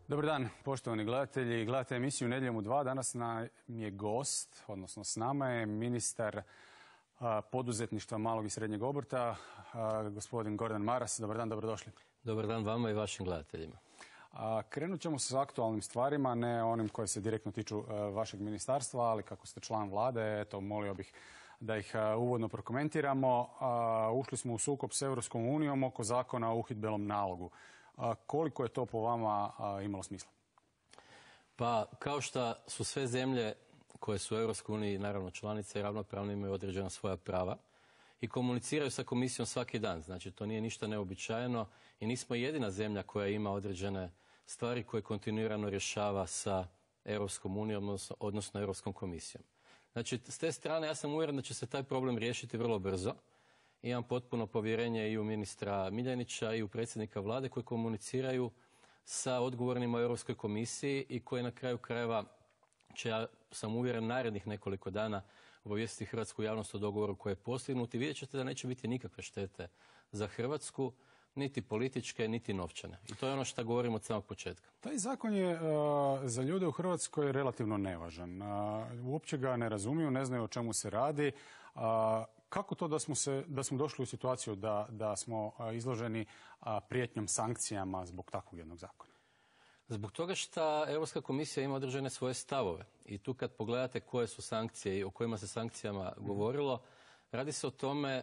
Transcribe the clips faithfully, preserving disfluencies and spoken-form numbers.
Dobar dan, poštovani gledatelji. Gledate emisiju Nedjeljom u dva. Danas nam je gost, odnosno s nama je ministar poduzetništva malog i srednjeg obrta, gospodin Gordan Maras. Dobar dan, dobrodošli. Dobar dan vama i vašim gledateljima. Krenut ćemo s aktualnim stvarima, ne onim koje se direktno tiču vašeg ministarstva, ali kako ste član vlade, eto, molio bih da ih uvodno prokomentiramo. Ušli smo u sukob s Europskom unijom oko zakona o uhidbenom nalogu. Koliko je to po vama imalo smisla? Pa, kao što su sve zemlje koje su u Europskoj uniji naravno članice i ravnopravno imaju određena svoja prava i komuniciraju sa komisijom svaki dan. Znači, to nije ništa neobičajeno i nismo jedina zemlja koja ima određene stvari koje kontinuirano rješava sa Europskom unijom, odnosno, odnosno Europskom komisijom. Znači, s te strane ja sam uvjeren da će se taj problem riješiti vrlo brzo. Imam potpuno povjerenje i u ministra Miljenića i u predsjednika vlade koji komuniciraju sa odgovornima u Europskoj komisiji i koji na kraju krajeva će, ja sam uvjeren, narednih nekoliko dana obavijestiti hrvatsku javnost o dogovoru koji je postignut i vidjet ćete da neće biti nikakve štete za Hrvatsku, niti političke, niti novčane. I to je ono što govorim od samog početka. Taj zakon je uh, za ljude u Hrvatskoj relativno nevažan. Uh, uopće ga ne razumiju, ne znaju o čemu se radi. Uh, Kako to da smo, se, da smo došli u situaciju da, da smo izloženi prijetnjom sankcijama zbog takvog jednog zakona? Zbog toga što Europska komisija ima određene svoje stavove. I tu kad pogledate koje su sankcije i o kojima se sankcijama govorilo, radi se o tome e,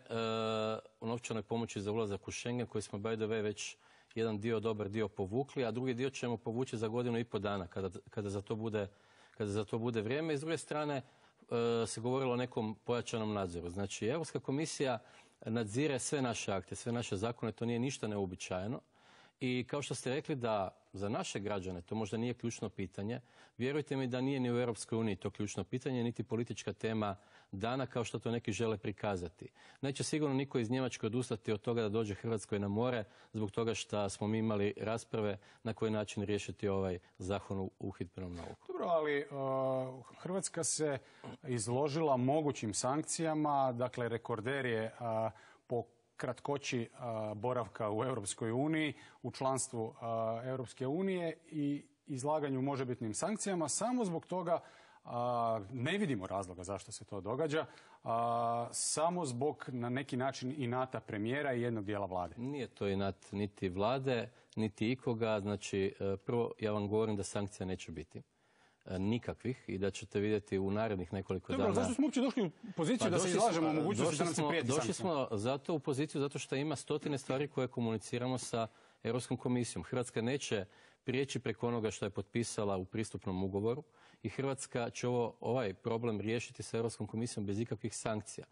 o novčanoj pomoći za ulazak u Schengen koji smo by the way već jedan dio, dobar dio povukli, a drugi dio ćemo povući za godinu i pol dana kada, kada, za to bude, kada za to bude vrijeme. I s druge strane, se govorilo o nekom pojačanom nadzoru. Znači, Europska komisija nadzire sve naše akte, sve naše zakone, to nije ništa neuobičajeno. I kao što ste rekli da za naše građane to možda nije ključno pitanje, vjerujte mi da nije ni u Europskoj uniji to ključno pitanje, niti politička tema dana kao što to neki žele prikazati. Neće sigurno niko iz Njemačke odustati od toga da dođe Hrvatskoj na more zbog toga što smo mi imali rasprave na koji način riješiti ovaj zakon o uhidbenom nalogu. Dobro, ali uh, Hrvatska se izložila mogućim sankcijama, dakle rekorder je uh, po kratkoći uh, boravka u Europskoj uniji, u članstvu uh, Europske unije i izlaganju možebitnim sankcijama. Samo zbog toga uh, ne vidimo razloga zašto se to događa, uh, samo zbog na neki način inata premijera i jednog dijela vlade. Nije to inat niti vlade, niti ikoga. Znači, prvo ja vam govorim da sankcija neće biti. Nikakvih i da ćete vidjeti u narednih nekoliko Dobro, dana. Zašto smo uopće došli u poziciju pa da se izlažemo u mogućnosti da nam se prijeti sankcijama? Došli smo zato u poziciju zato što ima stotine stvari koje komuniciramo sa Europskom komisijom. Hrvatska neće prijeći preko onoga što je potpisala u pristupnom ugovoru i Hrvatska će ovo, ovaj problem riješiti sa Europskom komisijom bez ikakvih sankcija.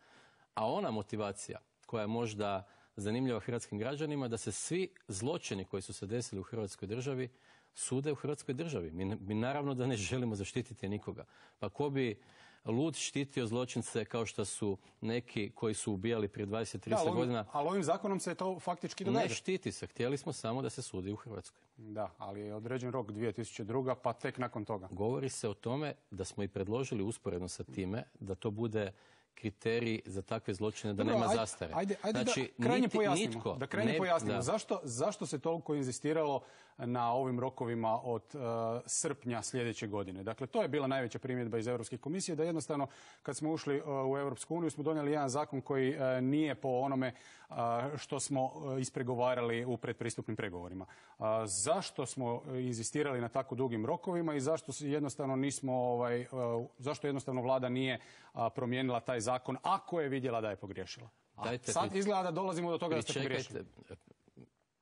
A ona motivacija koja je možda zanimljiva hrvatskim građanima da se svi zločini koji su se desili u Hrvatskoj državi sude u Hrvatskoj državi. Mi, mi naravno da ne želimo zaštititi nikoga. Pa ko bi lud štitio zločince kao što su neki koji su ubijali prije dvadeset trideset godina? Ali ovim zakonom se to faktički događa. Ne štiti se. Htjeli smo samo da se sudi u Hrvatskoj. Da, ali je određen rok dvije tisuće druga pa tek nakon toga. Govori se o tome da smo i predložili usporedno sa time da to bude kriterij za takve zločine da Dobro, nema ajde, zastare. Ajde, ajde znači, da krajnje niti, pojasnimo. nitko, da krajnje ne, pojasnimo. da. Zašto, zašto se toliko inzistiralo na ovim rokovima od uh, srpnja sljedeće godine? Dakle, to je bila najveća primjedba iz Europske komisije, da jednostavno kad smo ušli uh, u Europsku uniju smo donijeli jedan zakon koji uh, nije po onome uh, što smo uh, ispregovarali u predpristupnim pregovorima. Uh, zašto smo inzistirali na tako dugim rokovima i zašto jednostavno nismo, ovaj, uh, zašto jednostavno vlada nije uh, promijenila taj zakon ako je vidjela da je pogriješila? Dajte, sad izgleda da dolazimo do toga da ste pogriješili.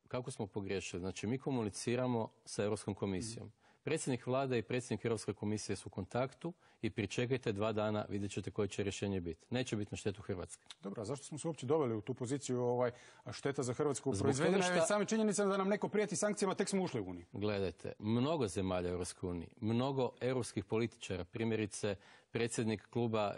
Kako smo pogriješili? Znači, mi komuniciramo sa Europskom komisijom. Predsjednik vlade i predsjednik Europske komisije su u kontaktu i pričekajte dva dana, vidjet ćete koje će rješenje biti. Neće biti na štetu Hrvatske. Dobro, a zašto smo se uopće doveli u tu poziciju ovaj, šteta za Hrvatsku? Proizvedena je već same činjenica da nam neko prijeti sankcijama, tek smo ušli u Uniju. Gledajte, mnogo zemalja u Europskoj uniji, mnogo europskih političara, primjerice predsjednik kluba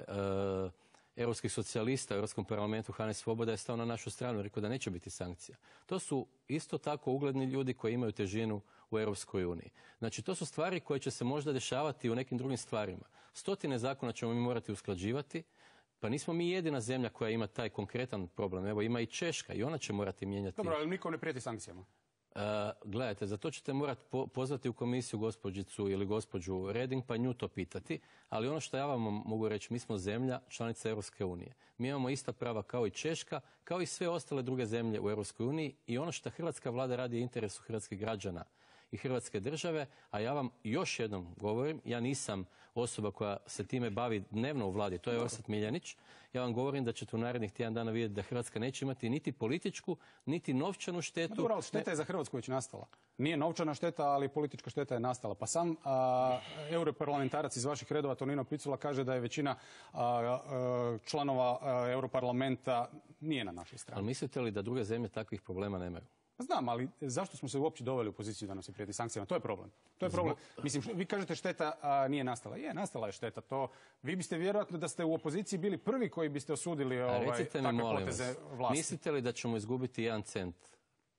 e, europskih socijalista u Europskom parlamentu, Hannes Svoboda, je stao na našu stranu i rekao da neće biti sankcija. To su isto tako ugledni ljudi koji imaju težinu u Europskoj uniji. Znači, to su stvari koje će se možda dešavati u nekim drugim stvarima. Stotine zakona ćemo mi morati usklađivati, pa nismo mi jedina zemlja koja ima taj konkretan problem. Evo, ima i Češka i ona će morati mijenjati. Dobro, ali niko ne prijeti sankcijama. Uh, gledajte, za to ćete morati po pozvati u komisiju gospođicu ili gospođu Reding pa nju to pitati, ali ono što ja vam mogu reći, mi smo zemlja članica Europske unije. Mi imamo ista prava kao i Češka, kao i sve ostale druge zemlje u Europskoj uniji i ono što hrvatska vlada radi je interesu hrvatskih građana i hrvatske države, a ja vam još jednom govorim, ja nisam osoba koja se time bavi dnevno u vladi, to je Orsat Miljanić, ja vam govorim da ćete u narednih tjedan dana vidjeti da Hrvatska neće imati niti političku, niti novčanu štetu. Dobro, ali šteta je za Hrvatsku već nastala. Nije novčana šteta, ali politička šteta je nastala. Pa sam a, europarlamentarac iz vaših redova, Tonino Picula, kaže da je većina a, a, članova a, europarlamenta nije na našoj strani. Ali mislite li da druge zemlje takvih problema nemaju? Znam, ali zašto smo se uopće doveli u poziciju da nam se prijeti sankcijama? To je problem. To je problem. Mislim, vi kažete šteta a, nije nastala. Je, nastala je šteta. To, vi biste vjerojatno da ste u opoziciji bili prvi koji biste osudili ovaj, recite mi, takve molim poteze vas, vlasti. mislite li da ćemo izgubiti jedan cent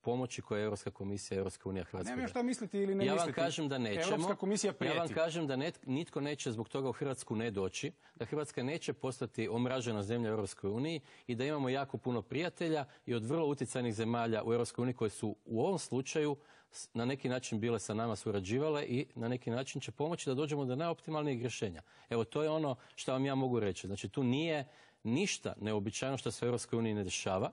pomoći koje je Europska komisija, Europska unija, Hrvatska? Nema šta misliti ili ne ja misliti. vam kažem da nećemo. Europska komisija prijeti. Ja vam kažem da net, nitko neće zbog toga u Hrvatsku ne doći, da Hrvatska neće postati omražena zemlja u Europskoj uniji i da imamo jako puno prijatelja i od vrlo utjecajnih zemalja u Europskoj uniji koje su u ovom slučaju na neki način bile sa nama surađivale i na neki način će pomoći da dođemo do najoptimalnijeg rješenja. Evo, to je ono što vam ja mogu reći. Znači, tu nije ništa neobičajno što se u Europskoj uniji ne dešava.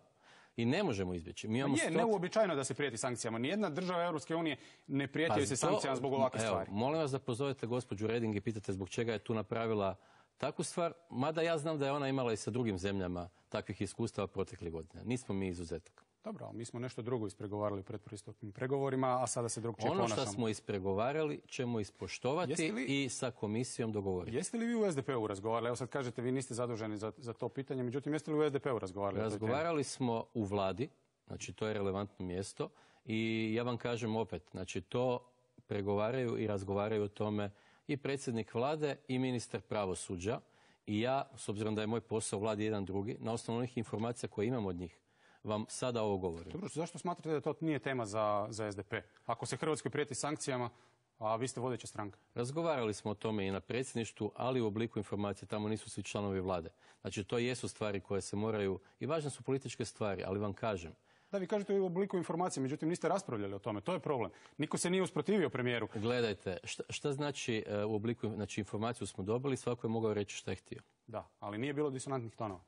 I ne možemo izbjeći. Mi imamo je stot... neuobičajeno da se prijeti sankcijama. Nijedna država Europske unije ne prijeti pa se sankcijama zbog ovakve evo, stvari. Molim vas da pozovete gospođu Reding i pitate zbog čega je tu napravila takvu stvar, mada ja znam da je ona imala i sa drugim zemljama takvih iskustava proteklih godina. Nismo mi izuzetak. Dobro, ali mi smo nešto drugo ispregovarali u predpristupnim pregovorima, a sada se drugčije ono ponašamo. što smo ispregovarali ćemo ispoštovati li, i sa komisijom dogovoriti. Jeste li vi u S D P-u razgovarali? Evo sad kažete, vi niste zaduženi za, za to pitanje, međutim, jeste li u S D P-u razgovarali? Razgovarali smo u vladi, znači to je relevantno mjesto i ja vam kažem opet, znači to pregovaraju i razgovaraju o tome i predsjednik vlade i ministar pravosuđa i ja, s obzirom da je moj posao u vladi jedan drugi, na osnovu onih informacija koje imam od njih, vam sada ovo govorim. Dobro, zašto smatrate da to nije tema za, za S D P? Ako se Hrvatskoj prijeti sankcijama, a vi ste vodeća stranka. Razgovarali smo o tome i na predsjedništvu, ali u obliku informacije, tamo nisu svi članovi vlade. Znači, to jesu stvari koje se moraju, i važne su političke stvari, ali vam kažem. Da, vi kažete u obliku informacije, međutim niste raspravljali o tome, to je problem. Niko se nije usprotivio premijeru. Gledajte, šta, šta znači uh, u obliku, znači informaciju smo dobili, svako je mogao reći šta je htio. Da, ali nije bilo disonantnih tonova.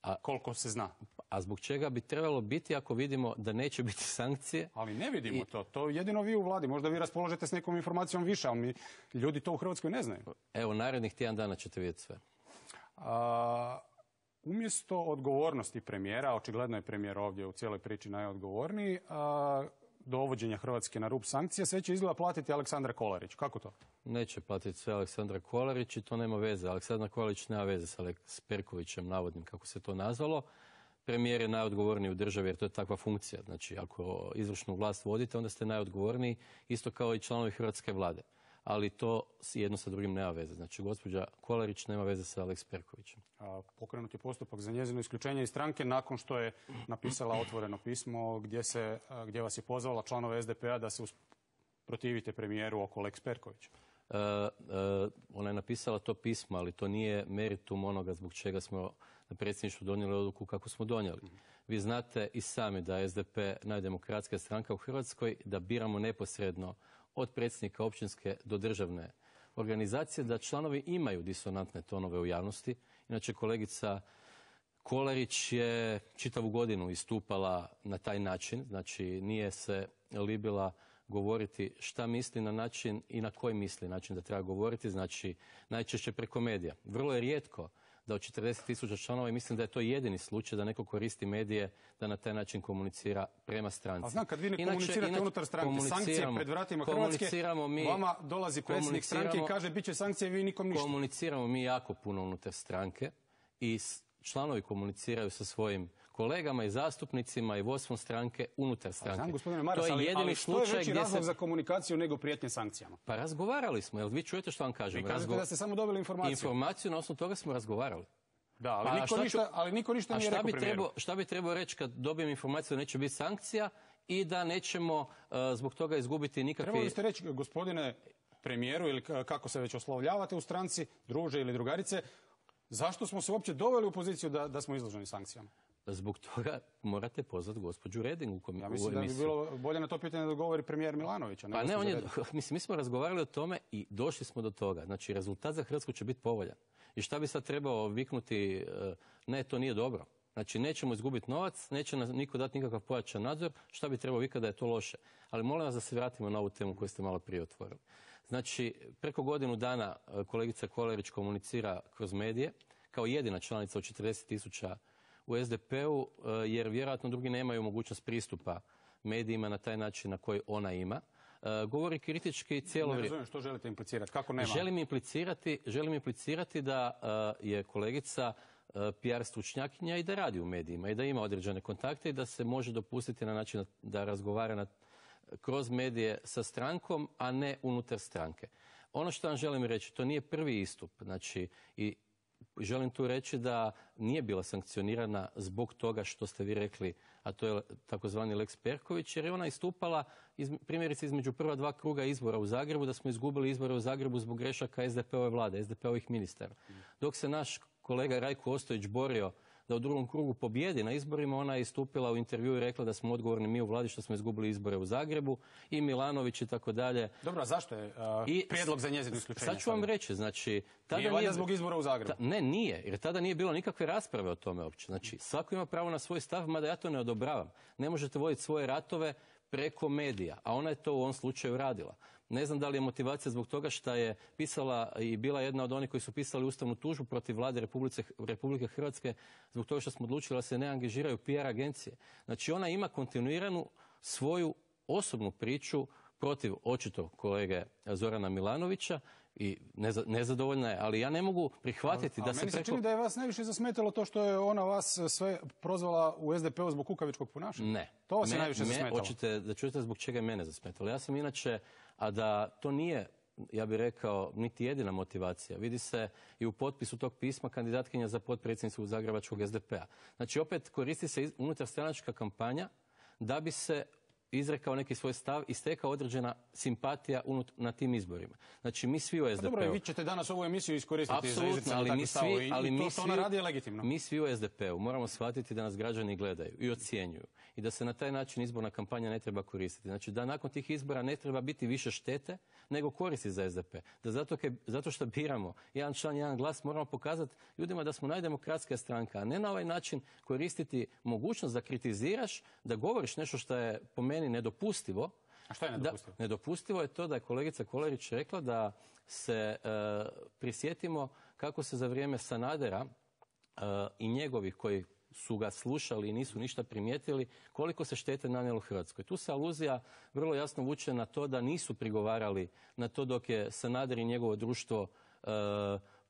A koliko se zna. A zbog čega bi trebalo biti ako vidimo da neće biti sankcije? Ali ne vidimo I... to. To jedino vi u vladi. Možda vi raspoložete s nekom informacijom više, ali mi, ljudi to u Hrvatskoj ne znaju. Evo, narednih tjedan dana ćete vidjeti sve. A, umjesto odgovornosti premijera, očigledno je premijer ovdje u cijeloj priči najodgovorniji, a, dovođenja Hrvatske na rub sankcija, sve će izgleda platiti Aleksandar Kolarić. Kako to? Neće platiti sve Aleksandra Kolarić i to nema veze. Aleksandar Kolarić nema veze sa Alex Perkovićem, navodnim, kako se to nazvalo. Premijer je najodgovorniji u državi jer to je takva funkcija. Znači, ako izvršnu vlast vodite, onda ste najodgovorniji, isto kao i članovi hrvatske vlade. Ali to jedno sa drugim nema veze. Znači, gospođa Kolarić nema veze sa Alex Perkovićem. A, pokrenut je postupak za njezino isključenje iz stranke nakon što je napisala otvoreno pismo gdje, se, gdje vas je pozvala članove S D P-a da se protivite premijeru oko Lex Perkovića. Uh, uh, ona je napisala to pismo, ali to nije meritum onoga zbog čega smo na predsjedništvu donijeli odluku kako smo donijeli. Mm-hmm. Vi znate i sami da je S D P najdemokratska stranka u Hrvatskoj, da biramo neposredno od predsjednika općinske do državne organizacije, da članovi imaju disonantne tonove u javnosti. Inače, kolegica Kolarić je čitavu godinu istupala na taj način, znači nije se libila govoriti šta misli na način i na koji misli način da treba govoriti, znači najčešće preko medija. Vrlo je rijetko da od četrdeset tisuća članova, i mislim da je to jedini slučaj da neko koristi medije da na taj način komunicira prema stranci. A znam, kad vi ne inače, komunicirate inače, unutar stranke, sankcije pred vratima Hrvatske, mi, vama dolazi predsjednik stranke i kaže bit će sankcije, vi nikom ništa. Komuniciramo mi jako puno unutar stranke i članovi komuniciraju sa svojim kolegama i zastupnicima i vodstvom stranke unutar stranke. Znam, gospodine Maras, to je jedini ali što je veći razlog se... za komunikaciju nego prijetnje sankcijama? Pa razgovarali smo, jel vi čujete što vam kažem? Vi kažete Razgo... da ste samo dobili informaciju. Informaciju, na osnovu toga smo razgovarali. Da, ali, pa, niko, šta ništa, ću, ali niko ništa nije rekao premijeru. Trebao, šta bi trebao reći kad dobijem informaciju da neće biti sankcija i da nećemo uh, zbog toga izgubiti nikakve... Trebali biste reći, gospodine premijeru, ili kako se već oslovljavate u stranci, druže ili drugarice, zašto smo se uopće doveli u poziciju da, da smo izloženi sankcijama? Zbog toga morate pozvati gospođu Reding u komisiju. Ja mislim da bi bilo bolje na to pitanje da govori premijer Milanović. Pa ne, on je, mislim, mi smo razgovarali o tome i došli smo do toga. Znači, rezultat za Hrvatsku će biti povoljan. I šta bi sad trebao viknuti, ne, to nije dobro. Znači, nećemo izgubiti novac, neće nam niko dati nikakav pojačan nadzor, šta bi trebao vikati da je to loše. Ali molim vas da se vratimo na ovu temu koju ste malo prije otvorili. Znači, preko godinu dana kolegica Kolerić komunicira kroz medije, kao jedina članica od četrdeset tisuća u S D P-u, jer vjerojatno drugi nemaju mogućnost pristupa medijima na taj način na koji ona ima. Govori kritički cijelo vrijeme. Ne razumijem što želite implicirati, kako nema? Želim implicirati, želim implicirati da je kolegica P R stručnjakinja i da radi u medijima i da ima određene kontakte i da se može dopustiti na način da razgovara na, kroz medije sa strankom, a ne unutar stranke. Ono što vam želim reći, to nije prvi istup, znači i želim tu reći da nije bila sankcionirana zbog toga što ste vi rekli, a to je takozvani Lex Perković, jer je ona istupala iz, primjerice između prva dva kruga izbora u Zagrebu, da smo izgubili izbore u Zagrebu zbog grešaka S D P-ove vlade, S D P-ovih ministara. Dok se naš kolega Rajko Ostojić borio da u drugom krugu pobjedi na izborima, ona je istupila u intervju i rekla da smo odgovorni mi u vladi što smo izgubili izbore u Zagrebu i Milanović i tako dalje. Dobro, a zašto je uh, I prijedlog za njezino isključenje? Sad ću vam reći, znači... Tada nije valjda zbog izbora u Zagrebu? Ta, ne, nije, jer tada nije bilo nikakve rasprave o tome uopće. Znači, svako ima pravo na svoj stav, mada ja to ne odobravam. Ne možete voditi svoje ratove preko medija, a ona je to u ovom slučaju radila. Ne znam da li je motivacija zbog toga što je pisala i bila jedna od onih koji su pisali ustavnu tužbu protiv vlade Republike, Republike Hrvatske zbog toga što smo odlučili da se ne angažiraju P R agencije. Znači ona ima kontinuiranu svoju osobnu priču protiv očito kolege Zorana Milanovića i nezadovoljna je, ali ja ne mogu prihvatiti a, da a se meni se preko... čini da je vas najviše zasmetalo to što je ona vas sve prozvala u S D P-u zbog kukavičkog ponašanja. Ne. To vas me, je najviše me, zasmetalo. Hoćete da čujete zbog čega je mene zasmetalo. Ja sam inače, a da to nije, ja bih rekao, niti jedina motivacija. Vidi se i u potpisu tog pisma kandidatkinja za potpredsjednicu Zagrebačkog S D P-a. Znači opet koristi se unutarstranačka kampanja da bi se izrekao neki svoj stav i stekao određena simpatija unut, na tim izborima. Znači mi svi u S D P-u... Dobro, vi ćete danas ovu emisiju iskoristiti Apsolutno, za izricanje takvih stavova i, ali i to, mi to ona radi je legitimno. Mi svi u S D P-u moramo shvatiti da nas građani gledaju i ocjenjuju i da se na taj način izborna kampanja ne treba koristiti. Znači da nakon tih izbora ne treba biti više štete nego koristi za S D P. Da zato, ke, zato što biramo jedan član, jedan glas, moramo pokazati ljudima da smo najdemokratskija stranka, a ne na ovaj način koristiti mogućnost da kritiziraš, da govoriš nešto što je po meni nedopustivo. A što je nedopustivo? Da, nedopustivo je to da je kolegica Kolerić rekla da se e, prisjetimo kako se za vrijeme Sanadera e, i njegovih koji su ga slušali i nisu ništa primijetili, koliko se štete nanijelo Hrvatskoj. Tu se aluzija vrlo jasno vuče na to da nisu prigovarali na to dok je Sanader i njegovo društvo e,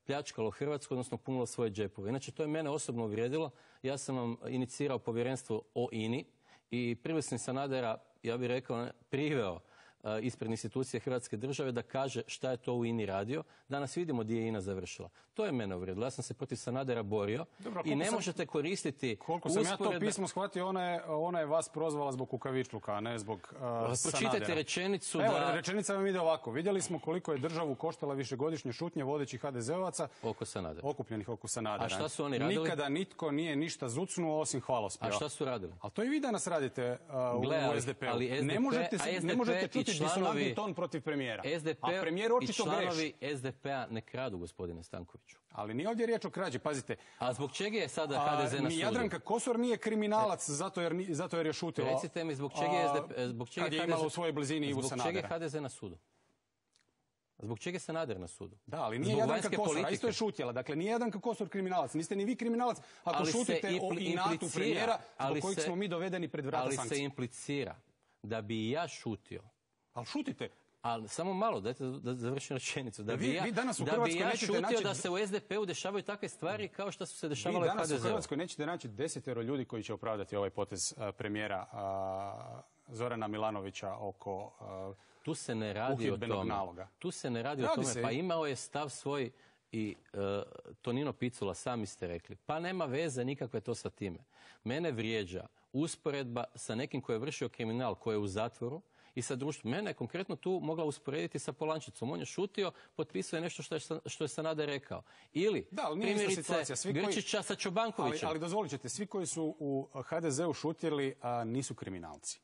pljačkalo Hrvatsku, odnosno punilo svoje džepove. Inače, to je mene osobno uvrijedilo. Ja sam vam inicirao povjerenstvo o I N I i priveo sam Sanadera, ja bih rekao, priveo uh, ispred institucije Hrvatske države da kaže šta je to u I N I radio. Danas vidimo gdje je I N A završila. To je mene uvrijedilo. Ja sam se protiv Sanadera borio. Dobro, i ne sam, možete koristiti koliko sam usporedba... ja to pismo shvatio, ona je, ona je vas prozvala zbog kukavičluka, a ne zbog uh, Pročitajte Sanadera. Rečenicu Evo, da... rečenica vam ide ovako. Vidjeli smo koliko je državu koštala višegodišnje šutnje vodećih ha de ze ovaca oko Sanadera. Okupljenih oko Sanadera. A šta su oni radili? Nikada nitko nije ništa zucnuo osim hvalospjeva. A šta su radili? Ali to i vi danas radite uh, Gle, ali, u S D P-u. Ali S D P, ne možete, S D P ne možete čuti članovi, disonantni ton protiv premijera. S D P a premijer očito greši. I članovi S D P-a ne kradu, gospodine Stankoviću. Ali nije ovdje riječ o krađi, pazite. A zbog čega je sada ha de ze na sudu? Jadranka Kosor nije kriminalac zato jer, zato jer je šutila. Recite mi zbog čega je S D P, zbog čega kad je imala u svojoj blizini Ivu Sanadera. Zbog čega je ha de ze na sudu? Zbog čega je Sanader na sudu? Da, ali nije Jadranka Kosor, a isto je šutjela. Dakle, nije Jadranka Kosor kriminalac. Niste ni vi kriminalac ako ali šutite o inatu premijera zbog kojeg se, smo mi dovedeni pred vrata ali sankcija. Ali se implicira da bi i ja šutio. Ali šutite. Ali samo malo, dajte da završim rečenicu. Da bi vi, ja, vi danas u da bi ja šutio naći... da se u S D P-u dešavaju takve stvari kao što su se dešavale u ha de ze-u. Vi danas u Hrvatskoj nećete naći desetero ljudi koji će opravdati ovaj potez uh, premijera uh, Zorana Milanovića oko uh, tu se ne radi o tome. Naloga. Tu se ne radi, radi o tome. Se. Pa imao je stav svoj i e, Tonino Picula, sami ste rekli, pa nema veze nikakve to sa time. Mene vrijeđa usporedba sa nekim koji je vršio kriminal, koji je u zatvoru, i sa društvom. Mene je konkretno tu mogla usporediti sa Polančicom. On je šutio, potpisuje nešto što je, što je Sanader rekao. Ili, da, primjerice, Grčića koji... sa Čobankovićem. Ali, ali dozvolit ćete, svi koji su u ha de zeu šutjeli a, nisu kriminalci.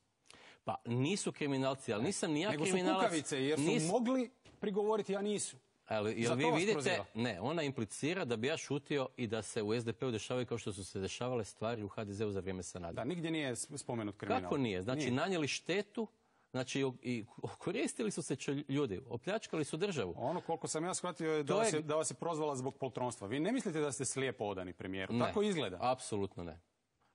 Pa nisu kriminalci, ali nisam ni ja nego kriminalac. Nego su kukavice, jer su nis... mogli prigovoriti, a nisu. Ali, jel vi vidite, ne, ona implicira da bi ja šutio i da se u es de pe u dešavaju kao što su se dešavale stvari u ha de zeu za vrijeme Sanadera. Da, nigdje nije spomenut kriminal. Kako nije? Znači, nije. Nanijeli štetu, znači i koristili su se ljudi, opljačkali su državu. Ono koliko sam ja shvatio je da, vas je, da vas je prozvala zbog poltronstva. Vi ne mislite da ste slijepo odani premijeru? Ne, tako izgleda? Apsolutno ne.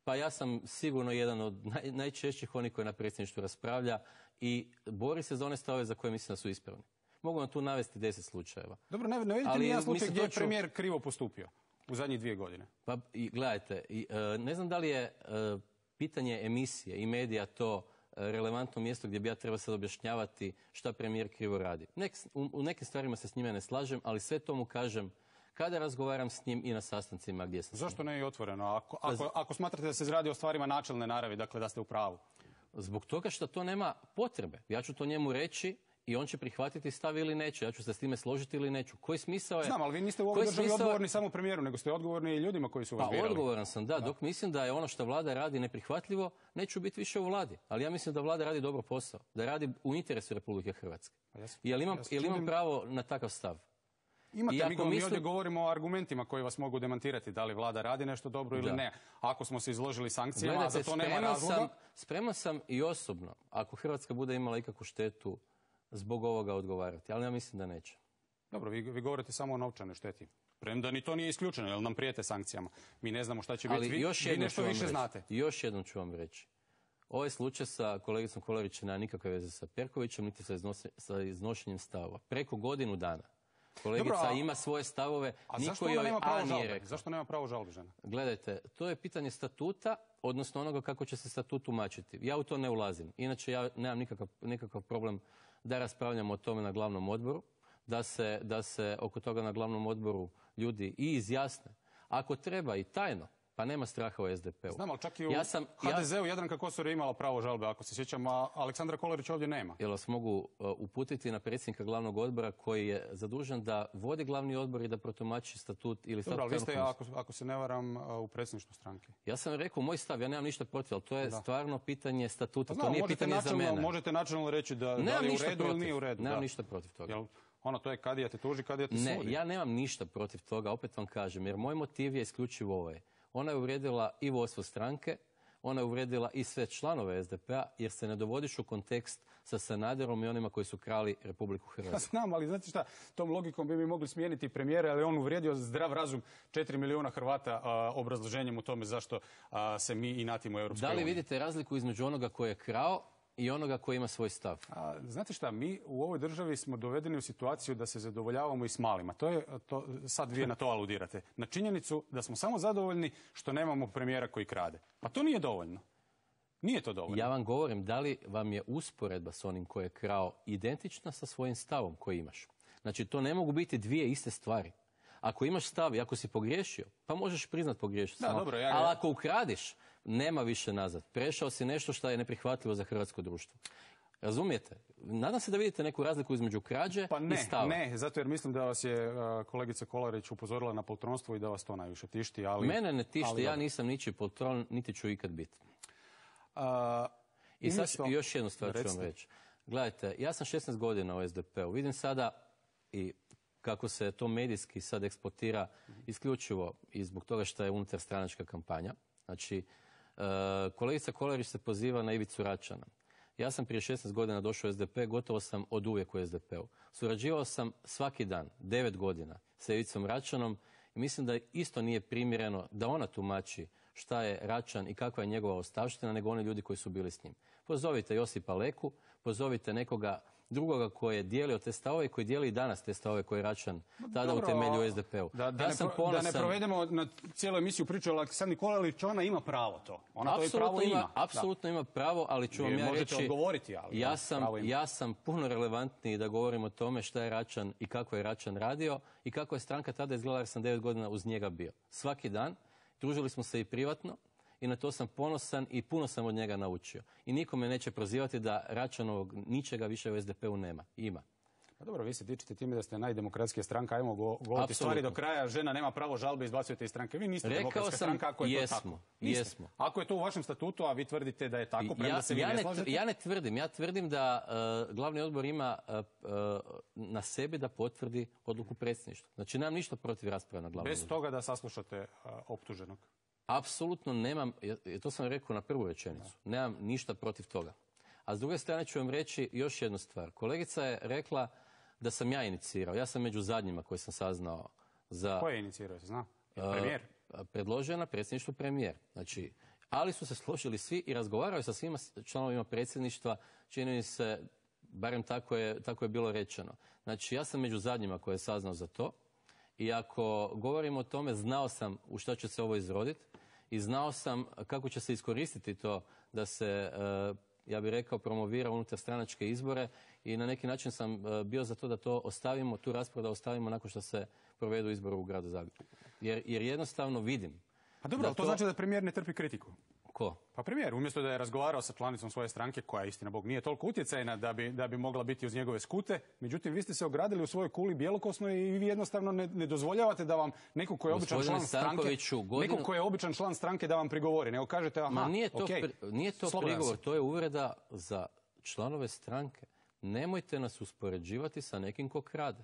Pa ja sam sigurno jedan od naj, najčešćih onih koji na predsjedništvu raspravlja i bori se za one stavove za koje mislim da su ispravni. Mogu vam tu navesti deset slučajeva. Dobro, ne, ne vidite ni jedan slučaj gdje je premijer krivo postupio u zadnjih dvije godine. Pa i, gledajte, i, e, ne znam da li je e, pitanje emisije i medija to relevantno mjesto gdje bi ja trebao sad objašnjavati šta premijer krivo radi. Nek, u, u nekim stvarima se s njime ne slažem, ali sve to mu kažem kada razgovaram s njim i na sastancima gdje sam. Zašto ne i otvoreno? Ako, ako, ako smatrate da se radi o stvarima načelne naravi, dakle da ste u pravu. Zbog toga što to nema potrebe. Ja ću to njemu reći i on će prihvatiti stav ili neće. Ja ću se s time složiti ili neću. Koji smisao je... Znam, ali vi niste u ovoj državi smisao... odgovorni samo premijeru, nego ste odgovorni i ljudima koji su vas pa, birali. Pa odgovoran sam, da, da. Dok mislim da je ono što vlada radi neprihvatljivo, neću biti više u vladi. Ali ja mislim da vlada radi dobro posao. Da radi u interesu Republike Hrvatske. Jel imam, jel imam pravo na takav stav? Imate, mi, mi mislim... ovdje govorimo o argumentima koji vas mogu demantirati da li vlada radi nešto dobro ili da. ne. Ako smo se izložili sankcijama, Gledajte, a za to nema razloga... Sam, spreman sam i osobno, ako Hrvatska bude imala ikakvu štetu, zbog ovoga odgovarati, ali ja mislim da neće. Dobro, vi, vi govorite samo o novčanoj šteti. Premda ni to nije isključeno, jer nam prijete sankcijama. Mi ne znamo šta će biti. Vi, još vi nešto više reći. znate. Još jednom ću vam reći. Ovaj slučaj sa kolegicom Kolarić nema nikakve veze sa Perkovićem, niti sa, iznose, sa iznošenjem stavova. Preko godinu dana. Kolegica Dobro, a, ima svoje stavove, a niko joj nema pravo A nije rekao. Zašto nema pravo žalbe žena? Gledajte, to je pitanje statuta, odnosno onoga kako će se statut tumačiti. Ja u to ne ulazim. Inače, ja nemam nikakav, nikakav problem da raspravljamo o tome na glavnom odboru, da se, da se oko toga na glavnom odboru ljudi i izjasne. Ako treba i tajno, pa nema straha u es de pe u. Znam, ali čak i u ja sam, ha de zeu ja... Jadranka Kosor je imala pravo žalbe, ako se sjećam, a Aleksandra Kolarić ovdje nema. Jel vas mogu uh, uputiti na predsjednika glavnog odbora koji je zadužen da vodi glavni odbor i da protumači statut ili statut. Dobro, ali vi ste, ako, ako se ne varam, u predsjedništvu stranke. Ja sam rekao moj stav, ja nemam ništa protiv, ali to je da. stvarno pitanje statuta, Znam, to nije pitanje načelno, za mene. Možete načelno reći da, da li je u redu protiv. ili nije u redu. Nemam da. ništa protiv toga. Jel, ono, to je kadija te tuži, kadija te ne, sudi. Ne, ja nemam ništa protiv toga, opet vam kažem, jer moj motiv je isključivo ovaj. Ona je uvrijedila i vodstvo stranke, ona je uvrijedila i sve članove es de pe a, jer se ne dovodiš u kontekst sa Sanaderom i onima koji su krali Republiku Hrvatsku. Ja znam, ali znate šta, tom logikom bi mi mogli smijeniti premijera, ali on uvrijedio zdrav razum četiri milijuna Hrvata a, obrazloženjem u tome zašto a, se mi inatimo u Europskoj uniji. Da li vidite razliku između onoga koji je krao i onoga koji ima svoj stav? A, znate šta, mi u ovoj državi smo dovedeni u situaciju da se zadovoljavamo i s malima. To je, to, sad vi na to aludirate. Na činjenicu da smo samo zadovoljni što nemamo premijera koji krade. Pa to nije dovoljno. Nije to dovoljno. Ja vam govorim, da li vam je usporedba s onim koji je krao identična sa svojim stavom koji imaš? Znači, to ne mogu biti dvije iste stvari. Ako imaš stav i ako si pogriješio, pa možeš priznat pogriješio. Da, dobro, ja, ja. Ali ako ukradiš, nema više nazad. Prešao si nešto što je neprihvatljivo za hrvatsko društvo. Razumijete? Nadam se da vidite neku razliku između krađe pa ne, i stava. Ne, zato jer mislim da vas je uh, kolegica Kolarić upozorila na poltronstvo i da vas to najviše tišti. Ali, Mene ne tišti, ali, ja nisam ničiji poltron, niti ću ikad biti. Uh, I sad umjesto... još jednu stvar ću vam reći. Gledajte, ja sam šesnaest godina u es de pe u. Vidim sada i kako se to medijski sad eksploatira isključivo i zbog toga što je unutar stranačka kampanja. Znači, uh, kolegica Kolarić se poziva na Ivicu Račana. Ja sam prije šesnaest godina došao u es de pe, gotovo sam od uvijek u es de pe u. Surađivao sam svaki dan, devet godina, sa Ivicom Račanom i mislim da isto nije primjereno da ona tumači šta je Račan i kakva je njegova ostavština nego oni ljudi koji su bili s njim. Pozovite Josipa Leku, pozovite nekoga drugoga koji je dijelio te stavove i koji dijeli i danas te stavove koje je Račan tada utemeljio u S D P-u. Da, da, ja ne sam pro, ponosan, da ne provedemo na cijelu emisiju priču o Aleksandri Nikolić, ona ima pravo to. Ona to i pravo ima. Apsolutno ima pravo, ali ću vam ja reći, odgovoriti, ali ja sam, ja sam puno relevantniji da govorim o tome šta je Račan i kako je Račan radio i kako je stranka tada izgledala jer sam devet godina uz njega bio. Svaki dan, družili smo se i privatno, i na to sam ponosan i puno sam od njega naučio. I niko me neće prozivati da Račanovog ničega više u S D P-u nema. Ima. Pa dobro, vi se dičite time da ste najdemokratskija stranka, ajmo go, govoriti stvari do kraja, žena nema pravo žalbe, izbacujete iz stranke. Vi niste Rekao demokratska sam, stranka ako je jesmo, to tako. Niste. Jesmo. Ako je to u vašem statutu, a vi tvrdite da je tako, premda ja, se vi ja ne ne slažete? Ja ne tvrdim, ja tvrdim da uh, glavni odbor ima uh, uh, na sebi da potvrdi odluku predsjedništva. Znači, nemam ništa protiv rasprave na glavnom Bez odboru. toga da saslušate uh, optuženog? Apsolutno nemam, to sam rekao na prvu rečenicu, nemam ništa protiv toga. A s druge strane ću vam reći još jednu stvar. Kolegica je rekla da sam ja inicirao. Ja sam među zadnjima koji sam saznao za... Ko je inicirao, se zna? Premijer? Uh, predložio na predsjedništvu premijer. Znači, ali su se složili svi i razgovarali sa svima članovima predsjedništva, čini mi se, barem tako je, tako je bilo rečeno. Znači, ja sam među zadnjima koji je saznao za to i ako govorimo o tome, znao sam u šta će se ovo izroditi i znao sam kako će se iskoristiti to da se, ja bih rekao, promovira unutar stranačke izbore i na neki način sam bio za to da to ostavimo, tu raspravu da ostavimo nakon što se provedu izbori u gradu Zagrebu. Jer, jer jednostavno vidim. Pa dobro, ali to, to znači da premijer ne trpi kritiku. Ko? Pa premijer, umjesto da je razgovarao sa članicom svoje stranke, koja istina Bog nije toliko utjecajna da bi, da bi mogla biti uz njegove skute, međutim vi ste se ogradili u svojoj kuli bjelokosnoj i vi jednostavno ne, ne dozvoljavate da vam neko ko je običan član stranke, godinu... neko ko je običan član stranke da vam prigovori, nego kažete aha, Ma nije to, okay, pri, nije to prigovor, to je uvreda za članove stranke. Nemojte nas uspoređivati sa nekim ko krade.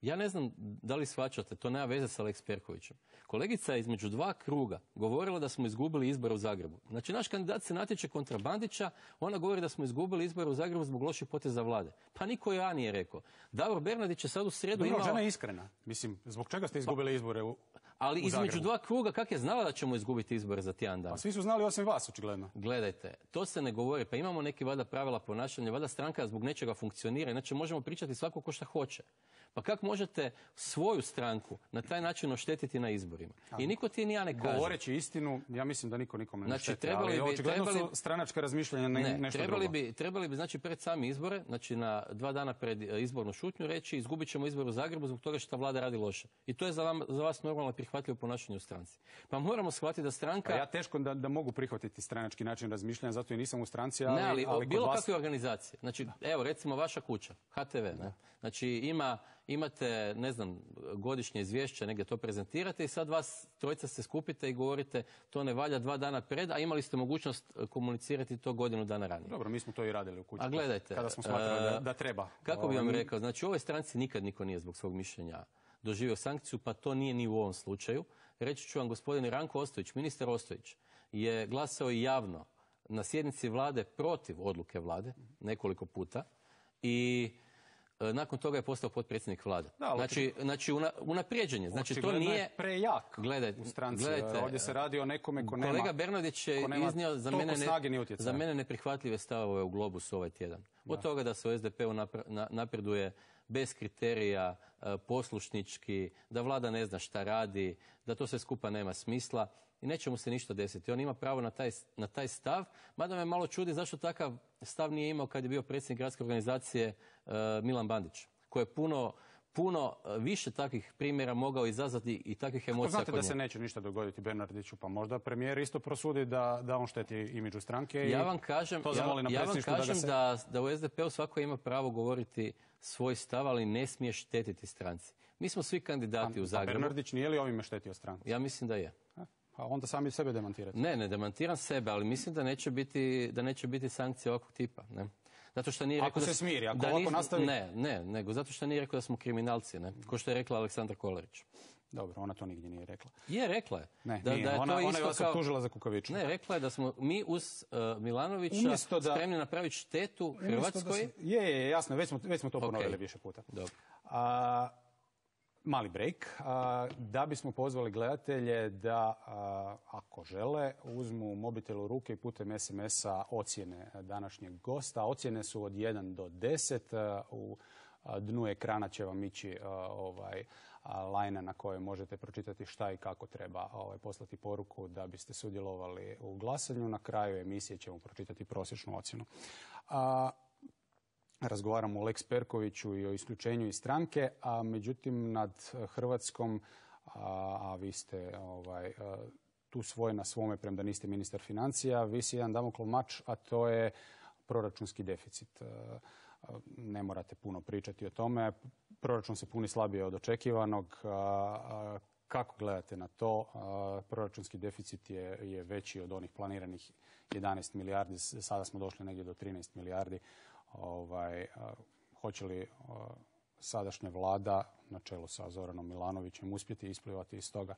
Ja ne znam da li shvaćate, to nema veze sa Lex Perkovićem. Kolegica je između dva kruga govorila da smo izgubili izbore u Zagrebu. Znači, naš kandidat se natječe kontra Bandića, ona govori da smo izgubili izbore u Zagrebu zbog loših poteza vlade. Pa niko ja nije rekao. Davor Bernardić je sad u srijedu imao... Žena je iskrena. Mislim, zbog čega ste izgubili izbore u, Ali u između dva kruga, kak je znala da ćemo izgubiti izbore za tjedan dana? Pa svi su znali osim vas, očigledno. Gledajte, to se ne govori. Pa imamo neki valjda pravila ponašanja, valjda stranka zbog nečega funkcionira, inače možemo pričati svako ko šta hoće. Pa kako možete svoju stranku na taj način oštetiti na izborima? I niko ti ni ja ne kaže. Govoreći istinu, ja mislim da niko nikome ne znači, šteti, trebali ali bi, očigledno trebali, su stranačka razmišljanja ne, ne, nešto trebali drugo. Bi, trebali bi, znači, pred sami izbore, znači na dva dana pred izbornu šutnju reći izgubit ćemo izbor u Zagrebu zbog toga što vlada radi loše. I to je za, vam, za vas normalno prihvatljivo ponašanje u stranci. Pa moramo shvatiti da stranka... Pa ja teško da, da mogu prihvatiti stranački način razmišljanja, zato i nisam u stranci, ali... Ne, ali, ali bilo vas... kakve organizacije. Znači, evo, recimo vaša kuća, H T V, ne? Znači, ima, imate, ne znam, godišnje izvješće, negdje to prezentirate i sad vas trojica se skupite i govorite to ne valja dva dana pred, a imali ste mogućnost komunicirati to godinu dana ranije. Dobro, mi smo to i radili u kući. A gledajte, kada smo smatrali da, da treba. Kako bi vam rekao, znači u ovoj stranci nikad niko nije zbog svog mišljenja doživio sankciju, pa to nije ni u ovom slučaju. Reći ću vam, gospodin Ranko Ostojić, ministar Ostojić, je glasao i javno na sjednici vlade protiv odluke vlade nekoliko puta i nakon toga je postao potpredsjednik vlade. Da, znači, znači una, unaprijeđenje. Znači, to nije je prejak gledajte, u stranci. Gledajte, ovdje se radi o nekome ko nema... Kolega Bernardić je iznio za mene, ne, za mene neprihvatljive stavove u Globusu ovaj tjedan. Od da. toga da se u S D P-u napreduje bez kriterija, poslušnički, da vlada ne zna šta radi, da to sve skupa nema smisla i neće mu se ništa desiti. On ima pravo na taj, na taj stav, mada me malo čudi zašto takav stav nije imao kad je bio predsjednik gradske organizacije uh, Milan Bandić, koji je puno, puno više takvih primjera mogao izazvati i takvih emocija. Znate da se neće ništa dogoditi Bernardiću, pa možda premijer isto prosudi da, da on šteti imidžu stranke. Ja vam kažem, to ja, ja vam kažem da, se... da, da u S D P-u svako ima pravo govoriti svoj stav, ali ne smije štetiti stranci. Mi smo svi kandidati a, u Zagrebu. A Bernardić nije li ovime štetio stranci? Ja mislim da je. A onda sami sebe demantirate. Ne, ne demantiram sebe, ali mislim da neće biti, da neće biti sankcije ovakvog tipa. Ne? Zato što nije rekao ako da, se smiri, ako da ovako nis, nastavi... Ne, ne, nego zato što nije rekao da smo kriminalci, ne? Ko što je rekla Aleksandra Kolarić. Dobro, ona to nigdje nije rekla. Je, rekla je. Ne, da, nije. Da je ona, to ona isto je vas kao... optužila za kukavičluk. Ne, rekla je da smo mi uz uh, Milanovića da... spremni napraviti štetu Hrvatskoj. Da se... Je, je, jasno, već smo, već smo to okay. ponovili više puta. Dobro. A, mali break, da bismo pozvali gledatelje da, ako žele, uzmu mobitel u ruke i putem es em es-a ocjene današnjeg gosta. Ocjene su od jedan do deset. U dnu ekrana će vam ići ovaj, lajna na kojoj možete pročitati šta i kako treba ovaj, poslati poruku da biste sudjelovali u glasanju. Na kraju emisije ćemo pročitati prosječnu ocjenu. A, razgovaramo o Lex Perkoviću i o isključenju iz stranke, a međutim nad Hrvatskom, a, a vi ste ovaj, a, tu svoj na svome, premda niste ministar financija, visi jedan damoklov mač, a to je proračunski deficit. A, ne morate puno pričati o tome. Proračun se puni slabije od očekivanog. A, a, kako gledate na to? A, proračunski deficit je, je veći od onih planiranih jedanaest milijardi. Sada smo došli negdje do trinaest milijardi. Ovaj, hoće li sadašnja vlada na čelu sa Zoranom Milanovićem uspjeti isplivati iz toga?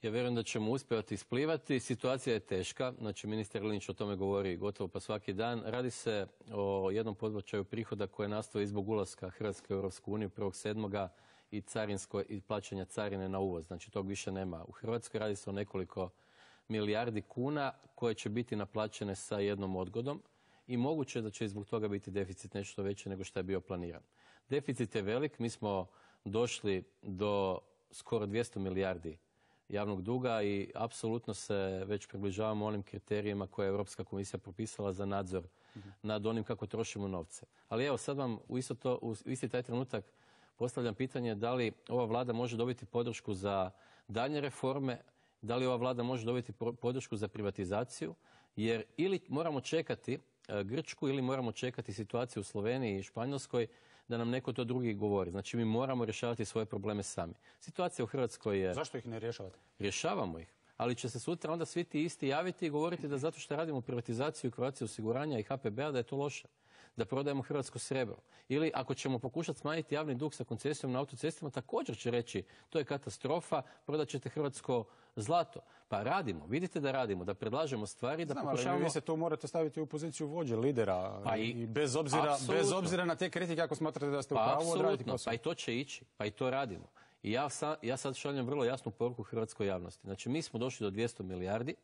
Ja vjerujem da ćemo uspjeti isplivati. Situacija je teška. Znači, ministar Linić o tome govori gotovo pa svaki dan. Radi se o jednom podbačaju prihoda koje nastoji zbog ulaska Hrvatske u Europsku uniju prvog sedmoga i carinsko i plaćanja carine na uvoz. Znači, tog više nema u Hrvatskoj. Radi se o nekoliko milijardi kuna koje će biti naplaćene sa jednom odgodom. I moguće da će zbog toga biti deficit nešto veći nego što je bio planiran. Deficit je velik, mi smo došli do skoro dvjesto milijardi javnog duga i apsolutno se već približavamo onim kriterijima koje je Europska komisija propisala za nadzor mm-hmm. nad onim kako trošimo novce. Ali evo sad vam u, isto to, u isti taj trenutak postavljam pitanje da li ova vlada može dobiti podršku za daljnje reforme, da li ova vlada može dobiti podršku za privatizaciju, jer ili moramo čekati Grčku ili moramo čekati situaciju u Sloveniji i Španjolskoj da nam neko to drugi govori. Znači mi moramo rješavati svoje probleme sami. Situacija u Hrvatskoj je... Zašto ih ne rješavate? Rješavamo ih. Ali će se sutra onda svi ti isti javiti i govoriti da zato što radimo privatizaciju Croatia osiguranja i ha pe be-a da je to loše. Da prodajemo hrvatsko srebro. Ili ako ćemo pokušati smanjiti javni dug sa koncesijom na autocestama, također će reći to je katastrofa, prodat ćete hrvatsko zlato. Pa radimo, vidite da radimo, da predlažemo stvari, da Znam, pokušavamo... ali vi se tu morate staviti u poziciju vođe, lidera. Pa i, i bez, obzira, bez obzira na te kritike, ako smatrate da ste u pravu, odraditi posao. Pa i to će ići, pa i to radimo. I ja, sa, ja sad šaljem vrlo jasnu poruku hrvatskoj javnosti. Znači mi smo došli do dvjesto milijardi.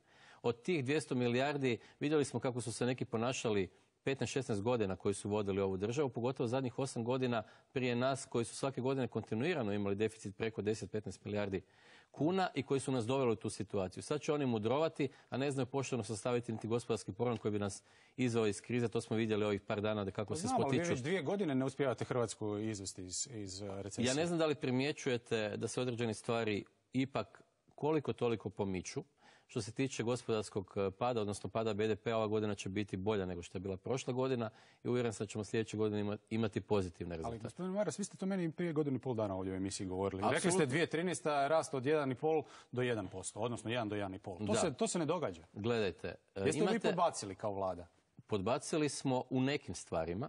Od tih dvjesto milijardi vidjeli smo kako su se neki ponašali petnaest šesnaest godina koji su vodili ovu državu, pogotovo zadnjih osam godina prije nas koji su svake godine kontinuirano imali deficit preko deset do petnaest milijardi kuna i koji su nas doveli u tu situaciju. Sad će oni mudrovati, a ne znaju pošteno sastaviti niti gospodarski program koji bi nas izveo iz krize. To smo vidjeli ovih par dana da kako se spotiču. Znam, ali vi već dvije godine ne uspijevate Hrvatsku izvesti iz, iz recesije. Ja ne znam da li primjećujete da se određene stvari ipak koliko toliko pomiču. Što se tiče gospodarskog pada, odnosno pada be de pe-a, ova godina će biti bolja nego što je bila prošla godina i uvjeren sam da ćemo sljedeće godine imati pozitivne rezultate. Ali gospodin Maras, vi ste to meni prije godinu i pol dana ovdje u emisiji govorili. Absolutno. Rekli ste dvije tisuće trinaesta rast od jedan i pol do jedan posto, odnosno jedan do jedan i pol. To se, to se ne događa. Gledajte. Jeste imate... li podbacili kao vlada? Podbacili smo u nekim stvarima,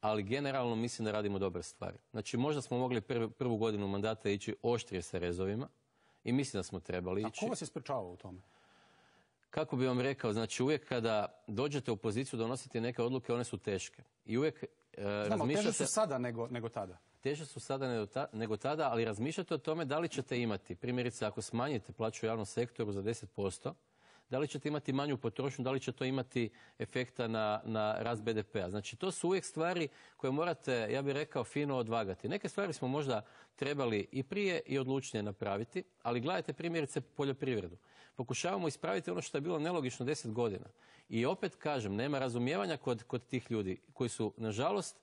ali generalno mislim da radimo dobre stvari. Znači možda smo mogli prv, prvu godinu mandata ići oštrije sa rezovima i mislim da smo trebali ići. A ko vas je sprečavao u tome? Kako bi vam rekao, znači uvijek kada dođete u poziciju donositi neke odluke, one su teške. I uvijek e, Znamo, razmišljate... teže su sada nego, nego tada. Teže su sada nego, ta, nego tada, ali razmišljate o tome da li ćete imati, primjerice ako smanjite plaću u javnom sektoru za deset posto, da li ćete imati manju potrošnju, da li će to imati efekta na, na rast be de pe-a. Znači to su uvijek stvari koje morate, ja bih rekao, fino odvagati. Neke stvari smo možda trebali i prije i odlučnije napraviti, ali gledajte primjerice poljoprivredu. Pokušavamo ispraviti ono što je bilo nelogično deset godina. I opet kažem, nema razumijevanja kod, kod tih ljudi koji su, nažalost,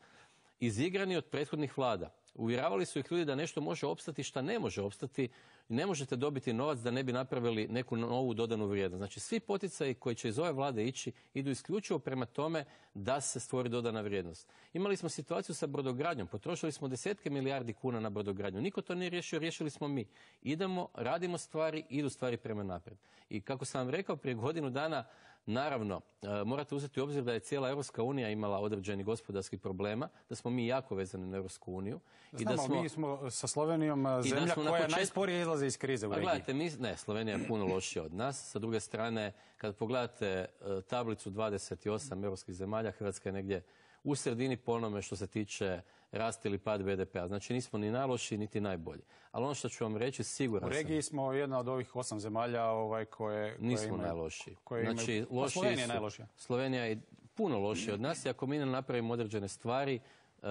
izigrani od prethodnih vlada. Uvjeravali su ih ljudi da nešto može opstati šta ne može opstati. Ne možete dobiti novac da ne bi napravili neku novu dodanu vrijednost. Znači svi poticaji koji će iz ove vlade ići idu isključivo prema tome da se stvori dodana vrijednost. Imali smo situaciju sa brodogradnjom, potrošili smo desetke milijardi kuna na brodogradnju. Niko to nije riješio, riješili smo mi. Idemo, radimo stvari, idu stvari prema naprijed. I kako sam vam rekao prije godinu dana, naravno, morate uzeti u obzir da je cijela Europska unija imala određeni gospodarskih problema, da smo mi jako vezani na Europsku uniju. Znamo, i da smo, mi smo sa Slovenijom zemlja koja počet... najsporije izlazi iz krize u regiji. Gledajte, mi, ne, Slovenija je puno lošija od nas. Sa druge strane, kad pogledate tablicu dvadeset osam europskih zemalja, Hrvatska je negdje u sredini po onome što se tiče rast ili pad be de pea. Znači nismo ni najlošiji niti najbolji. Ali ono što ću vam reći, siguran sam. U regiji smo jedna od ovih osam zemalja ovaj, koje, koje nismo imaju, najlošiji. Koje znači, imaju, lošiji Slovenija je su, najlošija. Slovenija je puno lošija od nas i ako mi ne napravimo određene stvari, uh,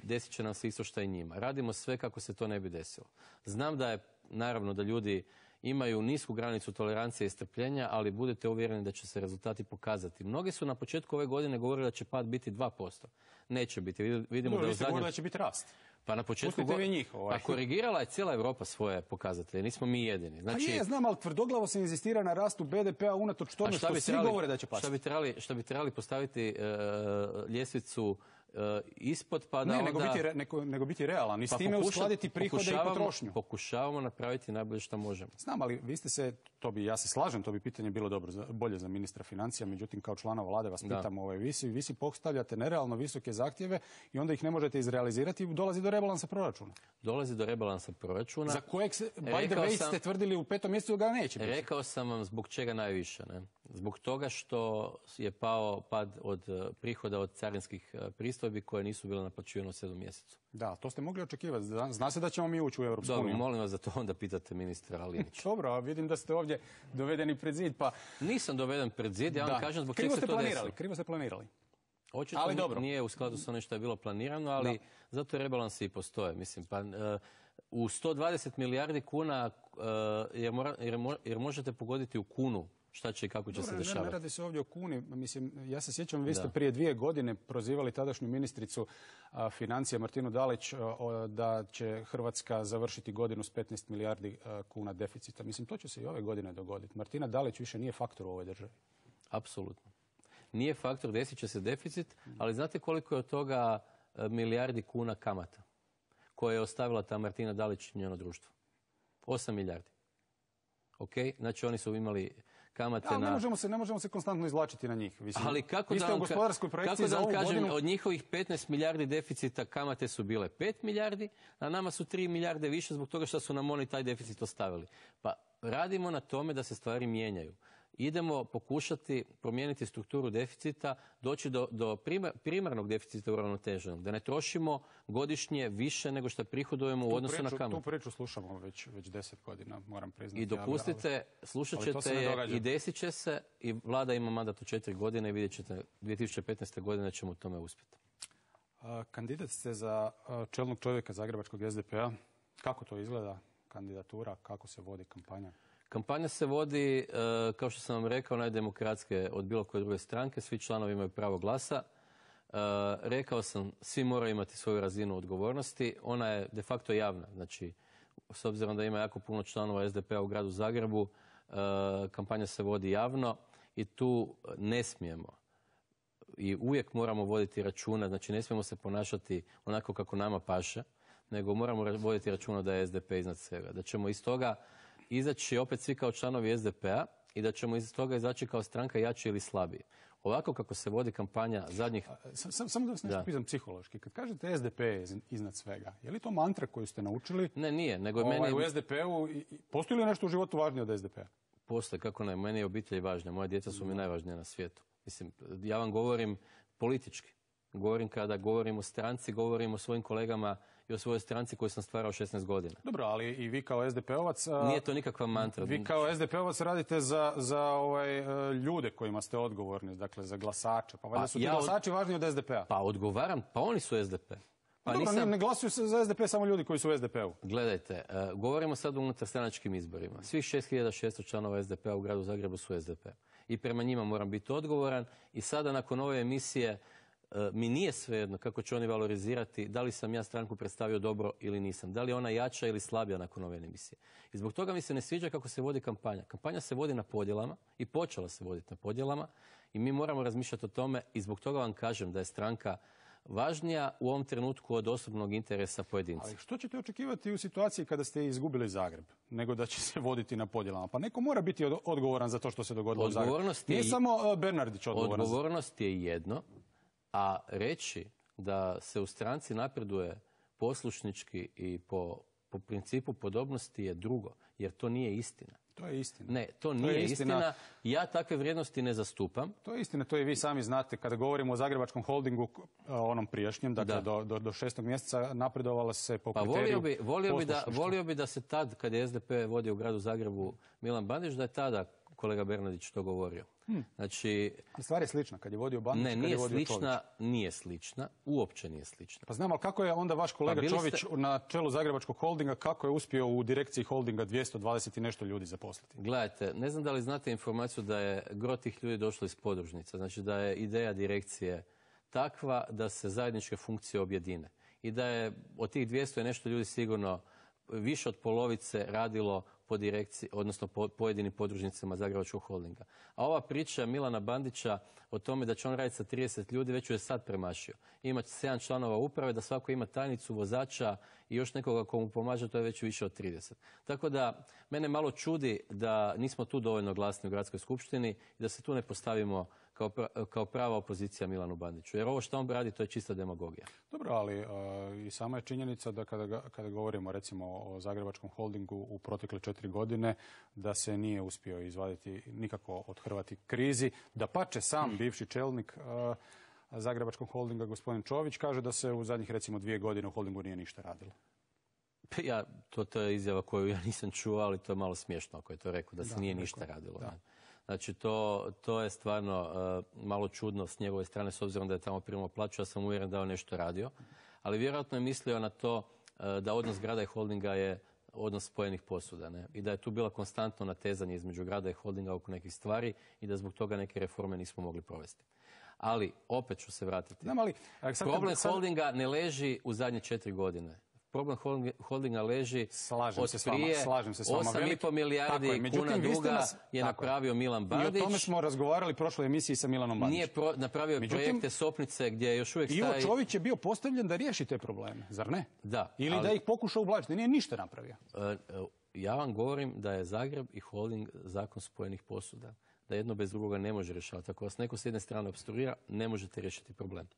desit će nam se isto što i njima. Radimo sve kako se to ne bi desilo. Znam da je, naravno, da ljudi imaju nisku granicu tolerancije i strpljenja, ali budete uvjereni da će se rezultati pokazati. Mnogi su na početku ove godine govorili da će pad biti dva posto. Neće biti. Vidimo Dobro, da vi u ste zadnjem... govorili da će biti rast. Pa na početku Pustite vi njih. Ovaj. Pa korigirala je cijela Europa svoje pokazatelje, nismo mi jedini. Znači... Pa je, znam, ali tvrdoglavo se inzistira na rastu be de pea unatoč tome što svi trebali, govore da će pasti. Šta bi trebali, šta bi trebali postaviti uh, ljestvicu uh, ispod pa da ne, onda... nego biti, re, nego, nego biti realan i s pa time pokuša, uskladiti prihode i potrošnju. Pokušavamo napraviti najbolje što možemo. Znam, ali vi ste se, to bi, ja se slažem, to bi pitanje bilo dobro, za, bolje za ministra financija, međutim kao člana vlade vas pitam, ovaj, vi, si, vi si postavljate nerealno visoke zahtjeve i onda ih ne možete izrealizirati i dolazi do rebalansa proračuna. Dolazi do rebalansa proračuna. Za kojeg se, by the way, ste tvrdili u petom mjesecu ga neće biti. Rekao sam vam zbog čega najviše. Ne? Zbog toga što je pao pad od prihoda od carinskih pristojbi koje nisu bile naplaćivane u sedmom mjesecu. Da, to ste mogli očekivati. Zna se da ćemo mi ući u Europsku uniju. Dobro, molim vas da to onda pitate ministra Linića. Dobro, a vidim da ste ovdje dovedeni pred zid, pa... Nisam doveden pred zid, ja vam da. kažem zbog čega se to desilo. Krivo ste planirali. Očito ali dobro. Nije u skladu sa onim što je bilo planirano, ali da. zato rebalansi i postoje. Mislim, pa, uh, u sto dvadeset milijardi kuna, uh, jer, mora, jer, mo, jer možete pogoditi u kunu šta će i kako će Dobre, se dešavati. Ne, ne radi se ovdje o kuni. Mislim, ja se sjećam, vi ste da. prije dvije godine prozivali tadašnju ministricu a, financija Martinu Dalić a, o, da će Hrvatska završiti godinu s petnaest milijardi a, kuna deficita. Mislim, to će se i ove godine dogoditi. Martina Dalić više nije faktor u ovoj državi. Apsolutno. Nije faktor, desit će se deficit, ali znate koliko je od toga milijardi kuna kamata koje je ostavila ta Martina Dalić i njeno društvo? Osam milijardi. Ok? Znači oni su imali kamate da, na... Ne možemo se, ne možemo se konstantno izvlačiti na njih. Mislim, ali kako vi da ste vam, u gospodarskoj projekciji kako da vam za ovu kažem, godinu... od njihovih petnaest milijardi deficita kamate su bile pet milijardi, a nama su tri milijarde više zbog toga što su nam oni taj deficit ostavili. Pa radimo na tome da se stvari mijenjaju. Idemo pokušati promijeniti strukturu deficita, doći do, do primar, primarnog deficita uravnoteženog, da ne trošimo godišnje više nego što prihodujemo u odnosu priču, na kamatu. Tu priču slušamo već, već deset godina, moram priznati. I dopustite, ali, slušat ćete je i desit će se i vlada ima mandat od četiri godine i vidjet ćete dvije tisuće petnaeste godine ćemo u tome uspjeti. A, kandidat ste za a, čelnog čovjeka Zagrebačkog es de pea. Kako to izgleda kandidatura, kako se vodi kampanja? Kampanja se vodi, kao što sam vam rekao, najdemokratske od bilo koje druge stranke. Svi članovi imaju pravo glasa. Rekao sam, svi moraju imati svoju razinu odgovornosti. Ona je de facto javna. Znači, s obzirom da ima jako puno članova es de pea u gradu Zagrebu, kampanja se vodi javno i tu ne smijemo i uvijek moramo voditi računa. Znači, ne smijemo se ponašati onako kako nama paše, nego moramo voditi računa da je es de pe iznad svega. Da ćemo iz toga izaći opet svi kao članovi es de pea i da ćemo iz toga izaći kao stranka jači ili slabiji. Ovako kako se vodi kampanja zadnjih... Samo sam da vas nešto pitam psihološki. Kad kažete es de pe je iznad svega, je li to mantra koju ste naučili? Ne, nije. Nego ovaj, meni... U es de peu, postoji li nešto u životu važnije od es de pea? Postoji, kako ne. Meni je obitelj važnija. Moja djeca su mi najvažnija na svijetu. Mislim, ja vam govorim politički. Govorim kada govorim o stranci, govorim o svojim kolegama i o svojoj stranci koju sam stvarao šesnaest godina. Dobro, ali i vi kao es de peovac... Nije to nikakva mantra. Vi kao es de peovac radite za, za ovaj, ljude kojima ste odgovorni, dakle za glasače. Pa valjda su ti ja glasači od... važniji od es de pea. Pa odgovaram, pa oni su es de pe. Pa dobro, nisam... ne glasuju se za es de pe samo ljudi koji su u es de peu. Gledajte, uh, govorimo sad o unutarstranačkim izborima. Svih šest hiljada šesto članova es de pea u gradu Zagrebu su es de pe. I prema njima moram biti odgovoran. I sada nakon ove emisije mi nije svejedno kako će oni valorizirati da li sam ja stranku predstavio dobro ili nisam. Da li je ona jača ili slabija nakon ove emisije. I zbog toga mi se ne sviđa kako se vodi kampanja. Kampanja se vodi na podjelama i počela se voditi na podjelama i mi moramo razmišljati o tome i zbog toga vam kažem da je stranka važnija u ovom trenutku od osobnog interesa pojedinca. Ali što ćete očekivati u situaciji kada ste izgubili Zagreb, nego da će se voditi na podjelama? Pa neko mora biti odgovoran za to što se dogodilo u Zagrebu. Nije samo Bernardić odgovoran. Odgovornost je jedno. A reći da se u stranci napreduje poslušnički i po, po principu podobnosti je drugo, jer to nije istina. To je istina. Ne, to, to nije istina. istina. Ja takve vrijednosti ne zastupam. To je istina, to i vi sami znate. Kada govorimo o Zagrebačkom holdingu, onom prijašnjem, dakle do, do, do šestog mjeseca napredovala se po pa kriteriju volio bi, volio bi, da, volio bi da se tad, kad je S D P vodio u gradu Zagrebu Milan Bandić, da je tada kolega Bernardić to govorio. Hmm. Znači, stvar je slična, kad je vodio Bandić, ne, kad nije je vodio slična, Čović. Nije slična, uopće nije slična. Pa znam, ali kako je onda vaš kolega pa Čović ste... na čelu Zagrebačkog holdinga, kako je uspio u direkciji holdinga dvjesto dvadeset i nešto ljudi zaposliti? Gledajte, ne znam da li znate informaciju da je gro tih ljudi došlo iz podružnica. Znači da je ideja direkcije takva da se zajedničke funkcije objedine. I da je od tih dvjesto je nešto ljudi sigurno više od polovice radilo po direkciji, odnosno po pojedinim podružnicama Zagrebačkog holdinga. A ova priča Milana Bandića o tome da će on raditi sa trideset ljudi, već ju je sad premašio. Ima sedam članova uprave, da svako ima tajnicu, vozača i još nekoga ko mu pomaže, to je već više od trideset. Tako da, mene malo čudi da nismo tu dovoljno glasni u gradskoj skupštini i da se tu ne postavimo kao, pra, kao prava opozicija Milanu Bandiću. Jer ovo što on radi, to je čista demagogija. Dobro, ali uh, i sama je činjenica da kada, kada govorimo recimo o Zagrebačkom holdingu u protekle četiri godine, da se nije uspio izvaditi nikako othrvati krizi. Da pače sam bivši čelnik uh, Zagrebačkog holdinga, gospodin Čović, kaže da se u zadnjih recimo dvije godine u holdingu nije ništa radilo. Ja, to, to je izjava koju ja nisam čuo, ali to je malo smiješno ako je to rekao, da se da, nije rekao, ništa radilo. Da. Znači, to, to je stvarno uh, malo čudno s njegove strane, s obzirom da je tamo primao plaću, ja sam uvjeren da je on nešto radio. Ali vjerojatno je mislio na to uh, da odnos grada i holdinga je odnos spojenih posuda. Ne? I da je tu bila konstantno natezanje između grada i holdinga oko nekih stvari i da zbog toga neke reforme nismo mogli provesti. Ali, opet ću se vratiti. Znam, ali, problem sad... holdinga ne leži u zadnje četiri godine. Problem holdinga leži slažem od se s vama, prije slažem se s vama. osam i pol milijardi kuna duga nas, je napravio Milan Bandić. I o tome smo razgovarali u prošloj emisiji sa Milanom Bandićem. Nije pro, napravio Međutim, projekte Sopnice gdje još uvijek Ivo staje... Čović je bio postavljen da riješi te probleme, zar ne? Da. Ili ali, da ih pokuša ublažiti, nije ništa napravio. Ja vam govorim da je Zagreb i holding zakon spojenih posuda. Da jedno bez drugoga ne može rješavati. Ako vas neko s jedne strane obstruira, ne možete riješiti problem.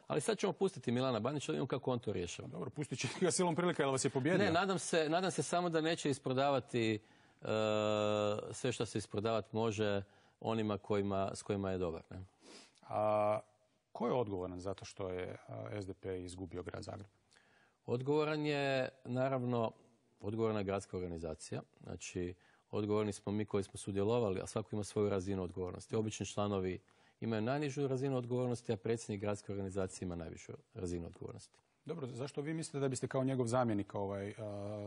Ali sad ćemo pustiti Milana Bandića, da vidimo kako on to rješava. Dobro, pustit će ga silom prilika, jer vas je pobjedio. Ne, nadam se, nadam se samo da neće isprodavati uh, sve što se isprodavati može onima kojima, s kojima je dobar. Ne? A ko je odgovoran zato što je S D P izgubio grad Zagreb? Odgovoran je, naravno, odgovorna je gradska organizacija. Znači, odgovorni smo mi koji smo sudjelovali, a svako ima svoju razinu odgovornosti. Obični članovi imaju najnižu razinu odgovornosti, a predsjednik gradske organizacije ima najvišu razinu odgovornosti. Dobro, zašto vi mislite da biste kao njegov zamjenik ovaj, uh,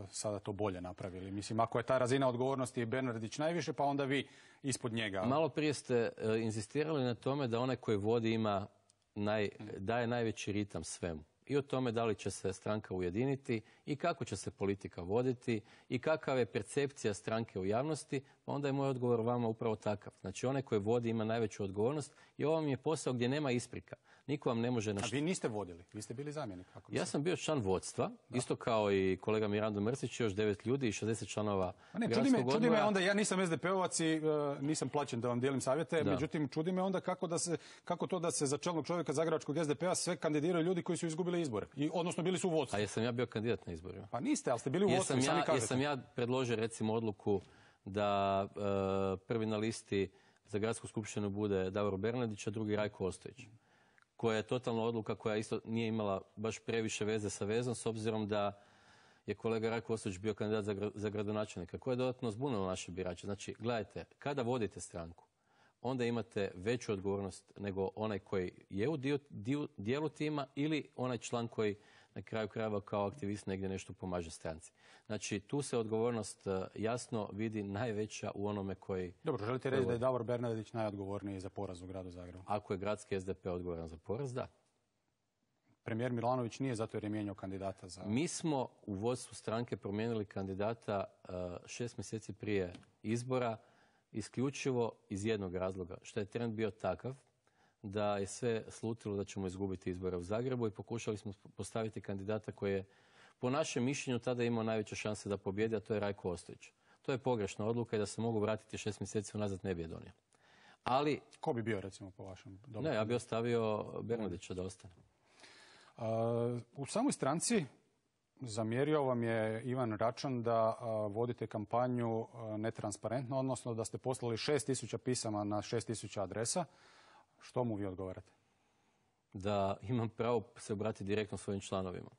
sada to bolje napravili? Mislim, ako je ta razina odgovornosti Bernardić najviše, pa onda vi ispod njega. Malo prije ste uh, inzistirali na tome da onaj koji vodi ima naj, daje najveći ritam svemu. I o tome da li će se stranka ujediniti i kako će se politika voditi i kakva je percepcija stranke u javnosti, pa onda je moj odgovor vama upravo takav. Znači, onaj koji vodi ima najveću odgovornost i ovo vam je posao gdje nema isprika. Niko vam ne može... Naš... A vi niste vodili, vi ste bili zamjenik. Ako ja sam bio član vodstva, da. Isto kao i kolega Mirando Mrsić, još devet ljudi i šezdeset članova ne, čudi me, čudi me onda, ja nisam S D P-ovac i uh, nisam plaćen da vam dijelim savjete, da. Međutim, čudi me onda kako, da se, kako to da se za čelnog čovjeka Zagrebačkog S D P-a sve kandidiraju ljudi koji su izgubili izbore, I, odnosno bili su u vodstvu. A jesam ja bio kandidat na izborima? Pa niste, ali ste bili u vodstvu, sami kažete. Jesam ja predložio recimo odluku da uh, prvi na listi za gradsku skupštinu bude Davor Bernardić, a drugi Rajko Ostojić. Koja je totalna odluka koja isto nije imala baš previše veze sa vezom, s obzirom da je kolega Rajko Ostojić bio kandidat za, za gradonačelnika, koje je dodatno zbunilo naše birače. Znači, gledajte, kada vodite stranku, onda imate veću odgovornost nego onaj koji je u dio, dio, dijelu tima ili onaj član koji na kraju krajeva kao aktivist negdje nešto pomaže stranci. Znači, tu se odgovornost jasno vidi najveća u onome koji... Dobro, želite reći da je Davor Bernardić najodgovorniji za poraz u gradu Zagrebu? Ako je gradski S D P odgovoran za poraz, da. Premijer Milanović nije zato jer je mijenjao kandidata za... Mi smo u vodstvu stranke promijenili kandidata uh, šest mjeseci prije izbora, isključivo iz jednog razloga, što je trend bio takav da je sve slutilo da ćemo izgubiti izbore u Zagrebu i pokušali smo postaviti kandidata koji je po našem mišljenju tada imao najveće šanse da pobjedi, a to je Rajko Ostojić. To je pogrešna odluka i da se mogu vratiti šest mjeseci unazad ne bi je donio. Ali... Ko bi bio recimo po vašem? Dobro. Ne, ja bi ostavio Bernardića da ostane. Uh, u samoj stranci Zamjerio vam je Ivan Račan da vodite kampanju netransparentno, odnosno da ste poslali šest tisuća pisama na šest tisuća adresa. Što mu vi odgovarate? Da imam pravo se obratiti direktno svojim članovima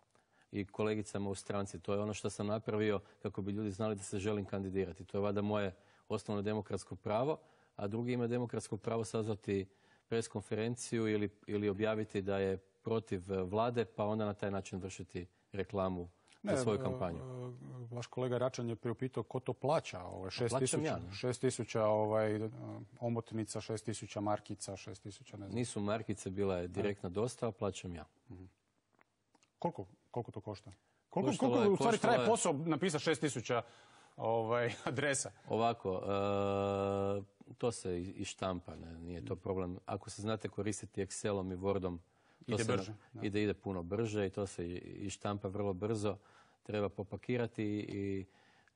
i kolegicama u stranci. To je ono što sam napravio kako bi ljudi znali da se želim kandidirati. To je valjda moje osnovno demokratsko pravo, a drugi ima demokratsko pravo sazvati pres konferenciju ili, ili objaviti da je protiv vlade, pa onda na taj način vršiti reklamu za svoju kampanju. Vaš kolega Račan je priupitao ko to plaća. Ovaj, šest tisuća ovaj, omotnica, šest tisuća markica, šest tisuća ne znam. Nisu markice, bila je direktna dostava, plaćam ja. Mm-hmm. Koliko, koliko to košta? Koliko, koliko je, u stvari traje je... posao napisati šest tisuća ovaj, adresa? Ovako, e, to se i štampa, ne, nije to problem. Ako se znate koristiti Excelom i Wordom, to ide se brže. Na, ide, ide puno brže i to se i štampa vrlo brzo. Treba popakirati i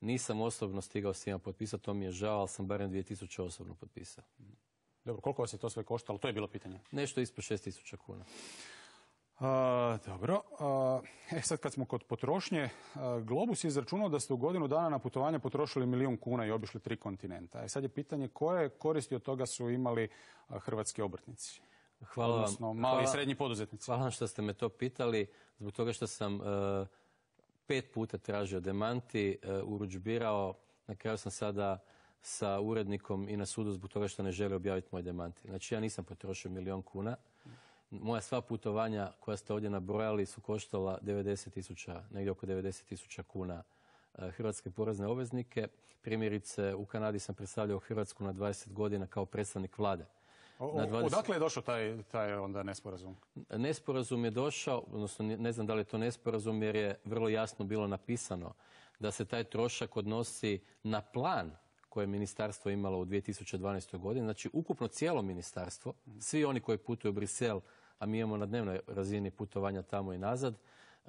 nisam osobno stigao s njima potpisati, to mi je žao, ali sam barem dvije tisuće osobno potpisao. Dobro, koliko vas je to sve koštalo? To je bilo pitanje. Nešto ispod šest tisuća kuna. A, dobro. A, e, sad kad smo kod potrošnje, a, Globus je izračunao da ste u godinu dana na putovanje potrošili milijun kuna i obišli tri kontinenta. E, sad je pitanje koje koristi od toga su imali a, hrvatski obrtnici? Hvala vam. Odnosno, mali hvala, i srednji poduzetnici. Hvala vam što ste me to pitali, zbog toga što sam uh, pet puta tražio demanti, uh, urudžbirao, na kraju sam sada sa urednikom i na sudu zbog toga što ne želi objaviti moj demanti. Znači ja nisam potrošio milijon kuna. Moja sva putovanja koja ste ovdje nabrojali su koštala devedeset tisuća, negdje oko devedeset tisuća kuna uh, hrvatske porezne obveznike. Primjerice, u Kanadi sam predstavljao Hrvatsku na dvadeset godina kao predstavnik vlade. O, dvadeset... Odakle je došao taj, taj onda nesporazum? Nesporazum je došao, odnosno ne znam da li je to nesporazum, jer je vrlo jasno bilo napisano da se taj trošak odnosi na plan koje je ministarstvo imalo u dvije tisuće dvanaestoj godini. Znači, ukupno cijelo ministarstvo, svi oni koji putuju u Brisel, a mi imamo na dnevnoj razini putovanja tamo i nazad,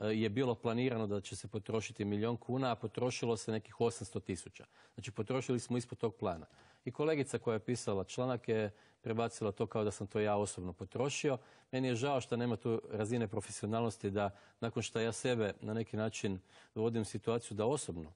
je bilo planirano da će se potrošiti milijon kuna, a potrošilo se nekih osamsto tisuća. Znači, potrošili smo ispod tog plana. I kolegica koja je pisala članak je prebacila to kao da sam to ja osobno potrošio. Meni je žao što nema tu razine profesionalnosti da nakon što ja sebe na neki način dovodim u situaciju da osobno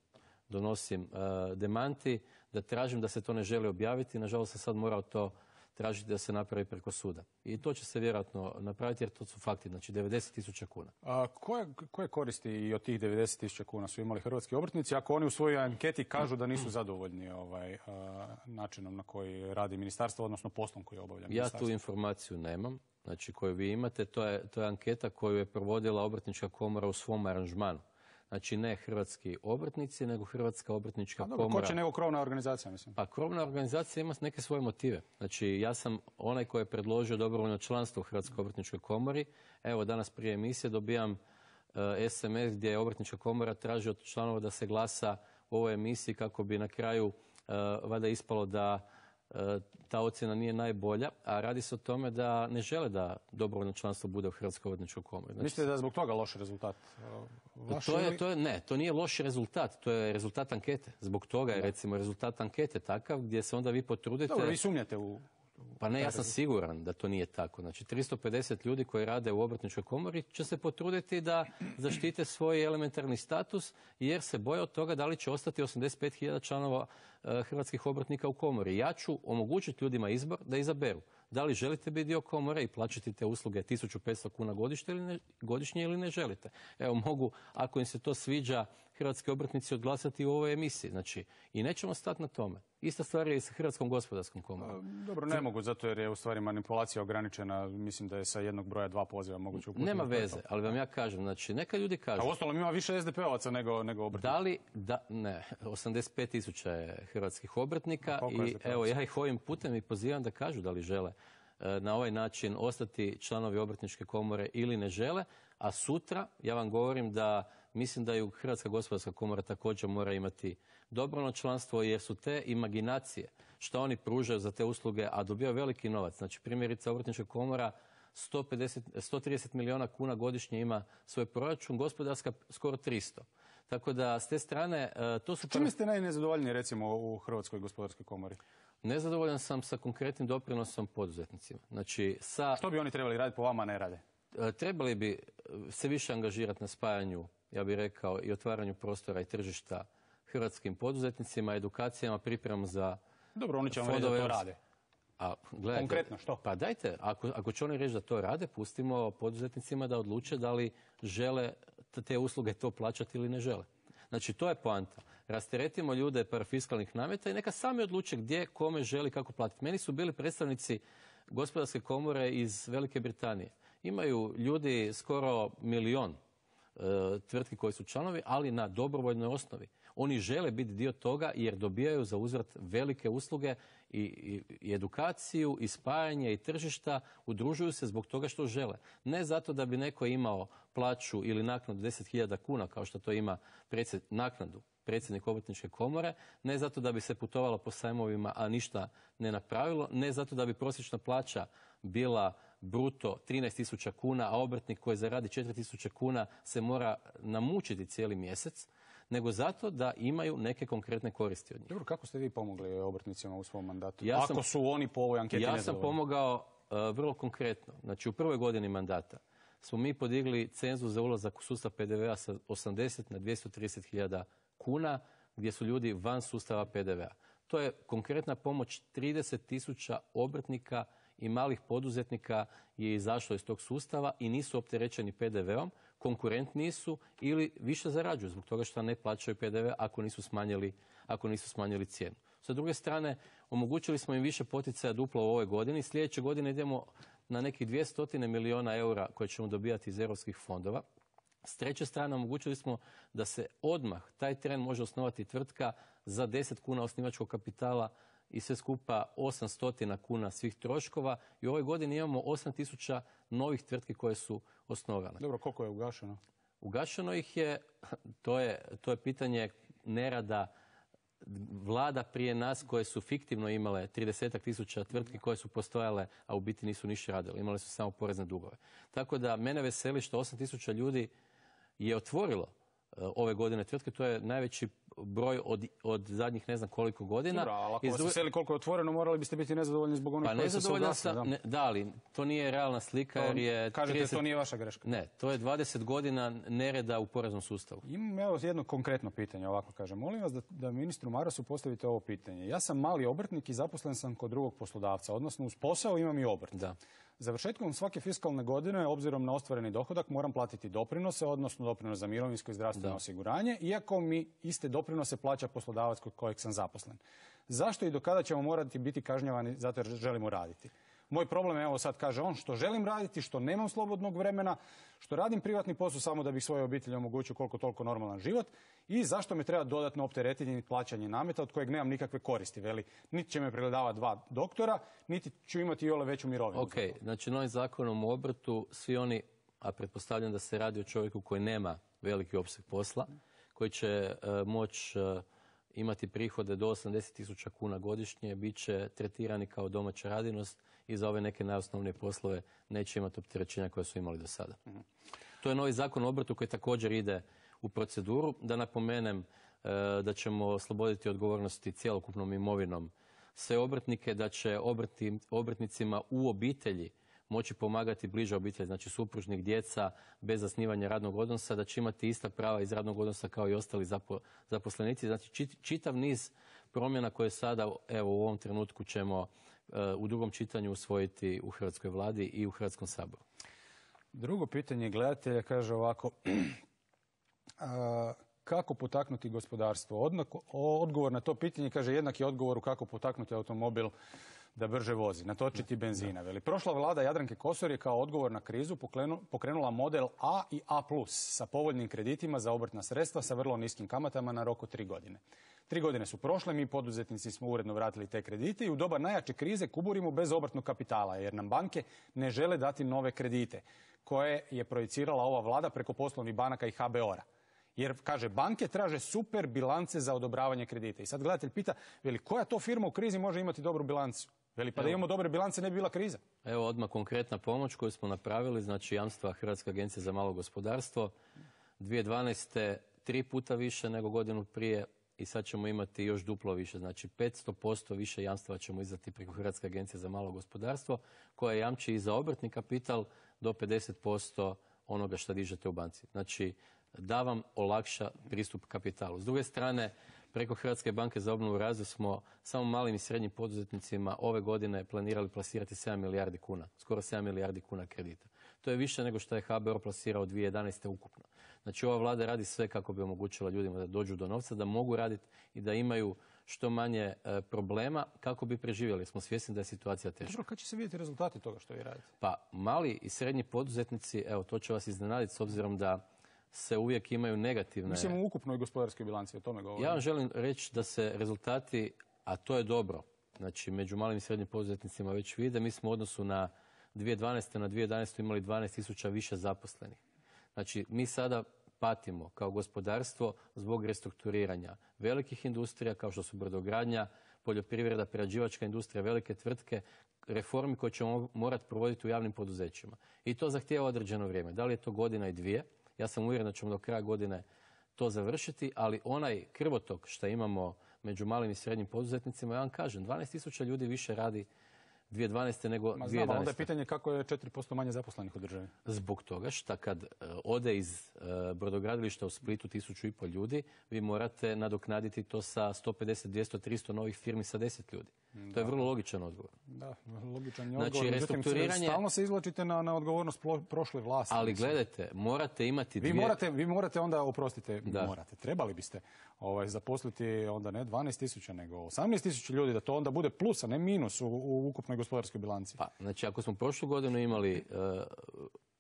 donosim uh, demanti, da tražim da se to ne želi objaviti. Nažalost sam sad morao to tražiti da se napravi preko suda. I to će se vjerojatno napraviti jer to su fakti, znači devedeset tisuća kuna. A koje, koje koristi i od tih devedeset tisuća kuna su imali hrvatski obrtnici ako oni u svojoj anketi kažu da nisu zadovoljni ovaj, a, načinom na koji radi ministarstvo, odnosno poslom koji obavlja ministarstvo? Ja tu informaciju nemam, znači koju vi imate. To je, to je anketa koju je provodila Obrtnička komora u svom aranžmanu. Znači ne hrvatski obrtnici, nego Hrvatska obrtnička dobro, komora. Ko će nego krovna organizacija, mislim? Pa krovna organizacija ima neke svoje motive. Znači ja sam onaj koji je predložio dobrovoljno članstvo u Hrvatskoj obrtničkoj komori. Evo danas prije emisije dobijam uh, es em es gdje je Obrtnička komora traži od članova da se glasa u ovoj emisiji kako bi na kraju uh, valjda ispalo da uh, ta ocjena nije najbolja, a radi se o tome da ne žele da dobrovoljno članstvo bude u Hrvatskoj obrtničkoj komori. Znači, mislite da je zbog toga loš rezultat? Vaš to je, to je, ne, to nije loš rezultat, to je rezultat ankete. Zbog toga je recimo rezultat ankete takav gdje se onda vi potrudite... Dobro, vi sumnjate u... Pa ne, ja sam siguran da to nije tako. Znači, tristo pedeset ljudi koji rade u Obrtničkoj komori će se potruditi da zaštite svoj elementarni status jer se boje od toga da li će ostati osamdeset pet hiljada članova uh, hrvatskih obrtnika u komori. Ja ću omogućiti ljudima izbor da izaberu. Da li želite biti dio komore i plaćati te usluge tisuću petsto kuna godišnje ili, ne, godišnje ili ne želite. Evo, mogu, ako im se to sviđa, hrvatski obrtnici odglasati u ovoj emisiji. Znači, i nećemo stati na tome. Ista stvar je i sa Hrvatskom gospodarskom komorom. Dobro, ne mogu, zato jer je u stvari manipulacija ograničena. Mislim da je sa jednog broja dva poziva moguće uputiti. Nema veze, ali vam ja kažem, znači, neka ljudi kažu... A uostalom ima više es de pe ovaca nego, nego obrtnika. Da li, da, ne, osamdeset pet tisuća je hrvatskih obrtnika i evo, ja ih ovim putem i pozivam da kažu da li žele na ovaj način ostati članovi Obrtničke komore ili ne žele, a sutra ja vam govorim da mislim da i Hrvatska gospodarska komora također mora imati dobrovoljno članstvo jer su te imaginacije što oni pružaju za te usluge, a dobijaju veliki novac. Znači primjerice Obrtnička komora sto pedeset, sto trideset milijuna kuna godišnje ima svoj proračun, gospodarska skoro tristo. Tako da s te strane to su... Čime ste najnezadovoljniji recimo u Hrvatskoj gospodarskoj komori? Nezadovoljan sam sa konkretnim doprinosom poduzetnicima. Znači, sa... Što bi oni trebali raditi po vama, ne rade? Trebali bi se više angažirati na spajanju ja bih rekao, i otvaranju prostora i tržišta hrvatskim poduzetnicima, edukacijama, pripremom za Dobro, oni će vam reći da to rade. A, gledajte, konkretno što? Pa dajte, ako, ako će oni reći da to rade, pustimo poduzetnicima da odluče da li žele te usluge to plaćati ili ne žele. Znači, to je poanta. Rasteretimo ljude parafiskalnih nameta i neka sami odluče gdje, kome želi, kako platiti. Meni su bili predstavnici Gospodarske komore iz Velike Britanije. Imaju ljudi skoro milion e, tvrtki koji su članovi, ali na dobrovoljnoj osnovi. Oni žele biti dio toga jer dobijaju za uzvrat velike usluge i, i, i edukaciju, i spajanje, i tržišta, udružuju se zbog toga što žele. Ne zato da bi neko imao plaću ili naknadu deset hiljada kuna, kao što to ima predsjed, naknadu predsjednik Obrtničke komore, ne zato da bi se putovalo po sajmovima, a ništa ne napravilo, ne zato da bi prosječna plaća bila bruto trinaest tisuća kuna, a obrtnik koji zaradi četiri tisuće kuna se mora namučiti cijeli mjesec, nego zato da imaju neke konkretne koristi od njih. Dobro, kako ste vi pomogli obrtnicima u svom mandatu? Ja sam, Ako su oni po ovoj anketi ja nezadovoljni? sam pomogao uh, vrlo konkretno. Znači, u prvoj godini mandata smo mi podigli cenzus za ulazak u sustav P D V-a sa osamdeset na dvjesto trideset hiljada kuna, gdje su ljudi van sustava P D V-a. To je konkretna pomoć, trideset tisuća obrtnika i malih poduzetnika je izašlo iz tog sustava i nisu opterećeni P D V-om, konkurentniji su ili više zarađuju zbog toga što ne plaćaju P D V ako nisu smanjili, ako nisu smanjili cijenu. Sa druge strane, omogućili smo im više poticaja duplo u ovoj godini. Sljedeće godine idemo na nekih dvjesto milijuna eura koje ćemo dobijati iz europskih fondova. S treće strane, omogućili smo da se odmah taj tren može osnovati tvrtka za deset kuna osnivačkog kapitala i sve skupa osamsto kuna svih troškova i u ovoj godini imamo osam tisuća novih tvrtki koje su osnovane. Dobro, koliko je ugašeno? Ugašeno ih je, to je, to je pitanje nerada vlada prije nas koje su fiktivno imale trideset tisuća tvrtki koje su postojale, a u biti nisu ništa radile. Imale su samo porezne dugove. Tako da mene veseli što osam tisuća ljudi je otvorilo ove godine tvrtke, to je najveći broj od, od zadnjih ne znam koliko godina. Dobro, ali ako vas veseli koliko je otvoreno, morali biste biti nezadovoljni zbog onih pa koji su se ugasili. Ne, da, ali to nije realna slika jer je... Kažete, trideset... to nije vaša greška. Ne, to je dvadeset godina nereda u poreznom sustavu. Imam evo jedno konkretno pitanje, ovako kažem. Molim vas da, da ministru Marasu postavite ovo pitanje. Ja sam mali obrtnik i zaposlen sam kod drugog poslodavca, odnosno uz posao imam i obrt. Da. Završetkom svake fiskalne godine, obzirom na ostvareni dohodak, moram platiti doprinose, odnosno doprinos za mirovinsko i zdravstveno da. osiguranje, iako mi iste doprinose plaća poslodavac kod kojeg sam zaposlen. Zašto i do kada ćemo morati biti kažnjavani zato jer želimo raditi? Moj problem je, evo sad kaže on, što želim raditi, što nemam slobodnog vremena, što radim privatni posao samo da bih svojoj obitelji omogućio koliko toliko normalan život i zašto me treba dodatno opteretiti plaćanje nameta od kojeg nemam nikakve koristi. Veli, niti će me pregledavati dva doktora, niti ću imati iole veću mirovinu. Ok, znači novim zakonom o obrtu svi oni, a pretpostavljam da se radi o čovjeku koji nema veliki opseg posla, koji će uh, moći uh, imati prihode do osamdeset tisuća kuna godišnje, bit će tretirani kao domaća radinost i za ove neke najosnovnije poslove neće imati opterećenja koje su imali do sada. Mm-hmm. To je novi zakon o obrtu koji također ide u proceduru. Da napomenem e, da ćemo osloboditi odgovornosti cjelokupnom imovinom sve obrtnike, da će obrti, obrtnicima u obitelji moći pomagati bliža obitelji, znači supružnik, djeca, bez zasnivanja radnog odnosa, da će imati ista prava iz radnog odnosa kao i ostali zapo, zaposlenici. Znači čitav niz promjena koje sada evo u ovom trenutku ćemo uh, u drugom čitanju usvojiti u Hrvatskoj vladi i u Hrvatskom saboru. Drugo pitanje gledatelja kaže ovako, a, kako potaknuti gospodarstvo? Odnako, odgovor na to pitanje kaže jednaki odgovor kako potaknuti automobil da brže vozi, natočiti benzina. Veli, prošla vlada Jadranke Kosor je kao odgovor na krizu pokrenula model A i A plus sa povoljnim kreditima za obrtna sredstva sa vrlo niskim kamatama na rok od tri godine. Tri godine su prošle, mi poduzetnici smo uredno vratili te kredite i u doba najjače krize kuburimo bez obrtnog kapitala jer nam banke ne žele dati nove kredite koje je projicirala ova vlada preko poslovnih banaka i H B O R-a. Jer, kaže, banke traže super bilance za odobravanje kredita. I sad gledatelj pita, veli, koja to firma u krizi može imati dobru bilancu? Veli, pa da imamo dobre bilance ne bi bila kriza. Evo odmah konkretna pomoć koju smo napravili, znači jamstva Hrvatske agencije za malo gospodarstvo. dvije tisuće dvanaeste tri puta više nego godinu prije i sad ćemo imati još duplo više, znači petsto posto više jamstva ćemo izdati preko Hrvatske agencije za malo gospodarstvo koja jamči i za obrtni kapital do pedeset posto onoga što dižete u banci. Znači, da vam olakša pristup kapitalu. S druge strane, preko Hrvatske banke za obnovu i razvoj smo samo malim i srednjim poduzetnicima ove godine planirali plasirati sedam milijardi kuna, skoro sedam milijardi kuna kredita. To je više nego što je H B O R plasirao dvije tisuće jedanaeste. ukupno. Znači ova vlada radi sve kako bi omogućila ljudima da dođu do novca, da mogu raditi i da imaju što manje e, problema kako bi preživjeli. Smo svjesni da je situacija teška. Dobro, kad će se vidjeti rezultati toga što vi radite? Pa mali i srednji poduzetnici, evo to će vas iznenaditi s obzirom da se uvijek imaju negativne... Mislim u ukupnoj gospodarskoj bilanci, o tome govorim. Ja vam želim reći da se rezultati, a to je dobro, znači među malim i srednjim poduzetnicima već vide, mi smo u odnosu na dvije tisuće dvanaeste. na dvije tisuće jedanaestu. imali dvanaest tisuća više zaposlenih. Znači mi sada patimo kao gospodarstvo zbog restrukturiranja velikih industrija kao što su brodogradnja, poljoprivreda, prerađivačka industrija, velike tvrtke, reformi koje ćemo morati provoditi u javnim poduzećima. I to zahtijeva određeno vrijeme. Da li je to godina i dvije? Ja sam uvjeren da ćemo do kraja godine to završiti, ali onaj krvotok što imamo među malim i srednjim poduzetnicima, ja vam kažem, dvanaest tisuća ljudi više radi dvije tisuće dvanaeste. nego dvije tisuće jedanaeste. Ma znam, onda je pitanje kako je četiri posto manje zaposlenih u državi. Zbog toga što kad uh, ode iz uh, brodogradilišta u Splitu tisuću i pol ljudi, vi morate nadoknaditi to sa sto pedeset, dvjesto, tristo novih firmi sa deset ljudi. Da. To je vrlo logičan odgovor. Da, logičan je znači, odgovor. Restrukturiranje... Stalno se izvlačite na, na odgovornost prošle vlasti. Ali gledajte, morate imati dvije... Vi morate, vi morate onda, oprostite, da. morate, trebali biste ovaj, zaposliti onda ne dvanaest tisuća, nego osamnaest tisuća ljudi, da to onda bude plus, a ne minus u, u ukupnoj gospodarskoj bilanci. Pa, znači, ako smo prošlu godinu imali, uh,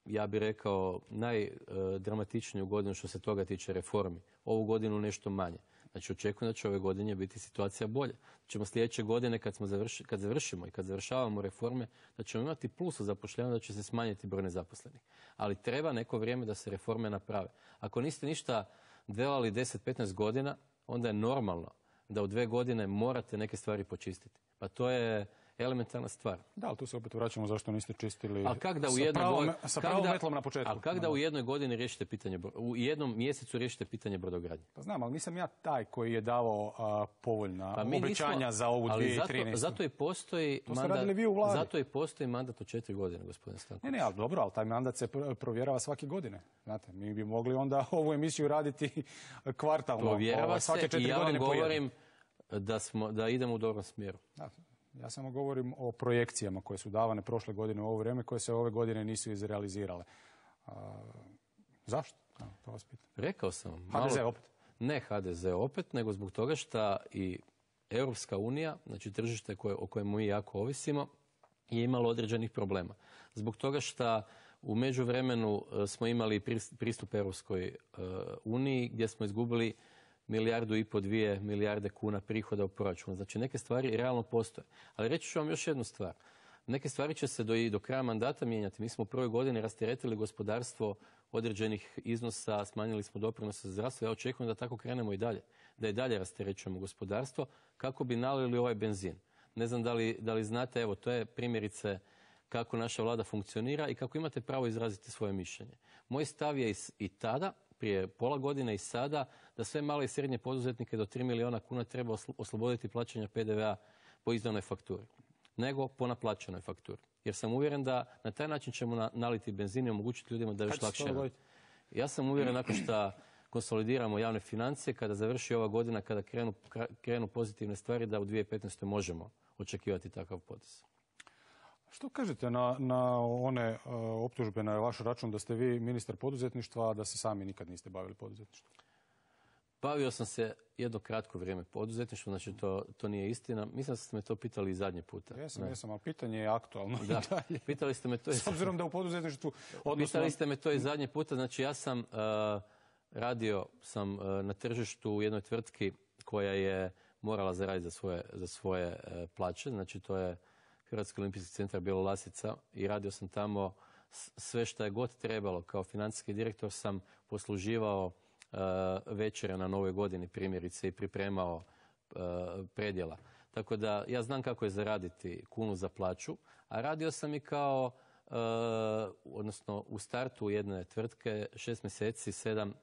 ja bih rekao, najdramatičniju godinu što se toga tiče reformi, ovu godinu nešto manje. Znači, očekujem da će ove godine biti situacija bolja. Da ćemo sljedeće godine, kad, smo završi, kad završimo i kad završavamo reforme, da ćemo imati plus u zapošljavanju, da će se smanjiti broj nezaposlenih. Ali treba neko vrijeme da se reforme naprave. Ako niste ništa delali deset do petnaest godina, onda je normalno da u dve godine morate neke stvari počistiti. Pa to je elementarna stvar. Da, ali tu se opet vraćamo zašto niste čistili a kak da u sa, jednoj pravom, god... sa pravom da... metlom na početku. Ali kako da u jednoj godini riješite pitanje, u jednom mjesecu riješite pitanje brodogradnje? Pa znam, ali nisam ja taj koji je davao a, povoljna pa obećanja nismo... za ovu dvije tisuće trinaestu. Zato, zato i postoji to mandat, vi u Vladi. Zato i postoji mandat od četiri godine, gospodine Stanković. Ne, ne, ali dobro, ali taj mandat se provjerava svake godine. Znate, mi bi mogli onda ovu emisiju raditi kvartalno. Provjerava se i ja vam govorim da, smo, da idemo u dobrom smjeru. Da. Ja samo govorim o projekcijama koje su davane prošle godine u ovo vrijeme, koje se ove godine nisu izrealizirale. A, zašto? A, to vas pitam. Rekao sam vam. H D Z opet? Ne H D Z opet, nego zbog toga što i Europska unija, znači tržište koje, o kojem mi jako ovisimo, je imalo određenih problema. Zbog toga što u međuvremenu smo imali pristup Europskoj uniji gdje smo izgubili milijardu i po dvije milijarde kuna prihoda u proračunu. Znači neke stvari realno postoje. Ali reći ću vam još jednu stvar. Neke stvari će se do, i do kraja mandata mijenjati. Mi smo u prvoj godini rasteretili gospodarstvo određenih iznosa, smanjili smo doprinose za zdravstvo. Ja očekujem da tako krenemo i dalje. Da i dalje rasterećujemo gospodarstvo kako bi nalili ovaj benzin. Ne znam da li, da li znate, evo to je primjerice kako naša vlada funkcionira i kako imate pravo izraziti svoje mišljenje. Moj stav je i tada, prije pola godine i sada, da sve male i srednje poduzetnike do tri milijuna kuna treba osloboditi plaćanja P D V-a po izdanoj fakturi, nego po naplaćenoj fakturi. Jer sam uvjeren da na taj način ćemo naliti benzin i omogućiti ljudima da još lakše rade. Ja sam uvjeren nakon što konsolidiramo javne financije, kada završi ova godina, kada krenu, krenu pozitivne stvari, da u dvije tisuće petnaestoj možemo očekivati takav potez. Što kažete na, na one uh, optužbe na vaš račun da ste vi ministar poduzetništva, a da se sami nikad niste bavili poduzetništvom? Bavio sam se jedno kratko vrijeme poduzetništvom, znači to, to nije istina. Mislim da ste me to pitali i zadnji puta. Jesam, jesam, ali pitanje je aktualno. Da, pitali ste me to i... S obzirom da u poduzetništvu... Odnosno... Pitali ste me to i zadnji puta, znači ja sam uh, radio sam uh, na tržištu u jednoj tvrtki koja je morala zaraditi za svoje, za svoje uh, plaće, znači to je Hrvatski olimpijski centar Bjelolasica i radio sam tamo sve što je god trebalo. Kao financijski direktor sam posluživao uh, večere na Novoj godini primjerice i pripremao uh, predjela. Tako da ja znam kako je zaraditi kunu za plaću, a radio sam i kao, uh, odnosno u startu jedne tvrtke šest mjeseci, sedam,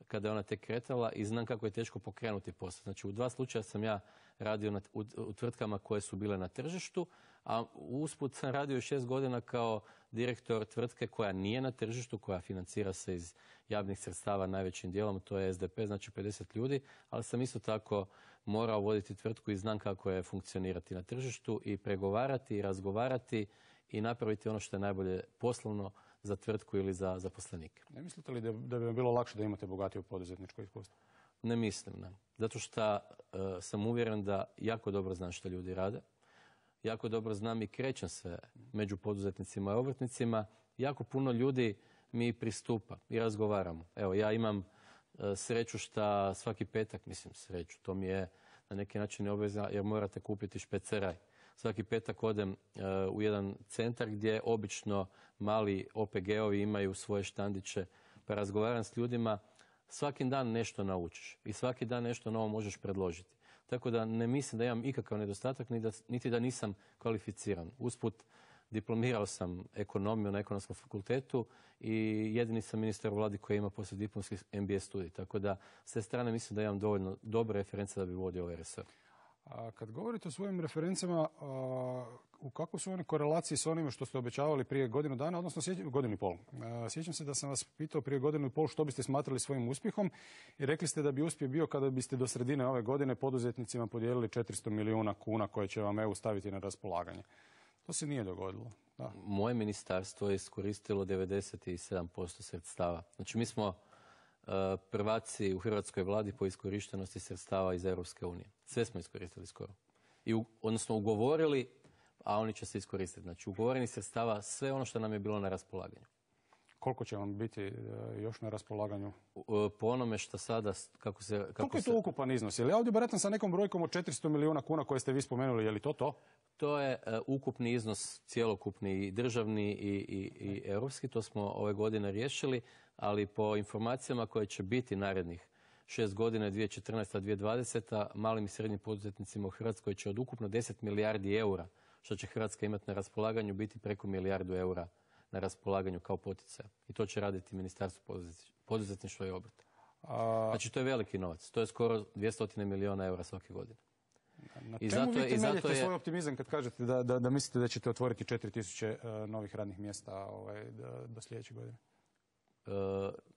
kada je ona tek kretala i znam kako je teško pokrenuti posao. Znači u dva slučaja sam ja radio na, u, u tvrtkama koje su bile na tržištu, a usput sam radio šest godina kao direktor tvrtke koja nije na tržištu, koja financira se iz javnih sredstava najvećim dijelom, to je S D P, znači pedeset ljudi, ali sam isto tako morao voditi tvrtku i znam kako je funkcionirati na tržištu i pregovarati i razgovarati i napraviti ono što je najbolje poslovno za tvrtku ili za zaposlenike. Ne mislite li da, da bi vam bilo lakše da imate bogatiju poduzetničko iskustvo? Ne mislim, ne. Zato što uh, sam uvjeren da jako dobro znam što ljudi rade. Jako dobro znam i krećem se među poduzetnicima i obrtnicima. Jako puno ljudi mi pristupa i razgovaramo. Evo, ja imam uh, sreću što svaki petak, mislim sreću, to mi je na neki način i obveza jer morate kupiti špeceraj. Svaki petak odem uh, u jedan centar gdje obično mali O P G-ovi imaju svoje štandiće, pa razgovaram s ljudima. Svaki dan nešto naučiš i svaki dan nešto novo možeš predložiti. Tako da ne mislim da imam ikakav nedostatak, niti da nisam kvalificiran. Usput diplomirao sam ekonomiju na ekonomskom fakultetu i jedini sam ministar u vladi koji ima poslijediplomski M B A studij. Tako da s te strane mislim da imam dovoljno dobre reference da bi vodio ovaj resor. A kad govorite o svojim referencama, a, u kakvoj su one korelaciji s onime što ste obećavali prije godinu dana, odnosno sjećam, godinu i pol? A, sjećam se da sam vas pitao prije godinu i pol što biste smatrali svojim uspjehom i rekli ste da bi uspjeh bio kada biste do sredine ove godine poduzetnicima podijelili četiristo milijuna kuna koje će vam E U staviti na raspolaganje. To se nije dogodilo. Da. Moje ministarstvo je iskoristilo devedeset sedam posto sredstava. Znači mi smo prvaci u hrvatskoj vladi po iskorištenosti sredstava iz Europske unije. Sve smo iskoristili skoro. I u, odnosno ugovorili, a oni će se iskoristiti. Znači ugovoreni sredstava, sve ono što nam je bilo na raspolaganju. Koliko će vam biti još na raspolaganju? Po onome što sada, kako se... Kako Koliko je to se... ukupan iznos? Je li ja ovdje baratam sa nekom brojkom od četiristo milijuna kuna koje ste vi spomenuli? Je li to to? To je uh, ukupni iznos, cjelokupni i državni i, i, i europski. To smo ove godine riješili, ali po informacijama koje će biti narednih šest godina, dvije tisuće četrnaesta do dvije tisuće dvadeseta, malim i srednjim poduzetnicima u Hrvatskoj će od ukupno deset milijardi eura, što će Hrvatska imati na raspolaganju, biti preko milijardu eura na raspolaganju kao poticaj. I to će raditi Ministarstvo poduzetništva i obrta. A... Znači, to je veliki novac. To je skoro dvjesto milijuna eura svake godine. Na I čemu zato vi temeljite je... svoj optimizam kad kažete da, da, da mislite da ćete otvoriti četiri tisuće uh, novih radnih mjesta ovaj, do, do sljedeće godine? Uh,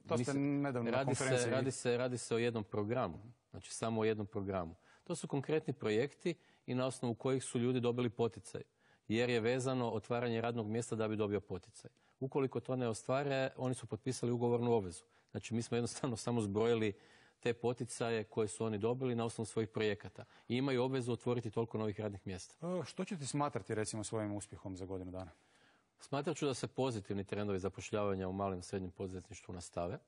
to ste nedavno na konferenciji. Se, radi, se, radi se o jednom programu. Znači, samo o jednom programu. To su konkretni projekti i na osnovu kojih su ljudi dobili poticaj. Jer je vezano otvaranje radnog mjesta da bi dobio poticaj. Ukoliko to ne ostvare, oni su potpisali ugovornu obvezu. Znači, mi smo jednostavno samo zbrojili te poticaje koje su oni dobili na osnovu svojih projekata. I imaju obvezu otvoriti toliko novih radnih mjesta. O, što ćete smatrati, recimo, svojim uspjehom za godinu dana? Smatrat ću da se pozitivni trendovi zapošljavanja u malom i srednjem poduzetništvu nastave.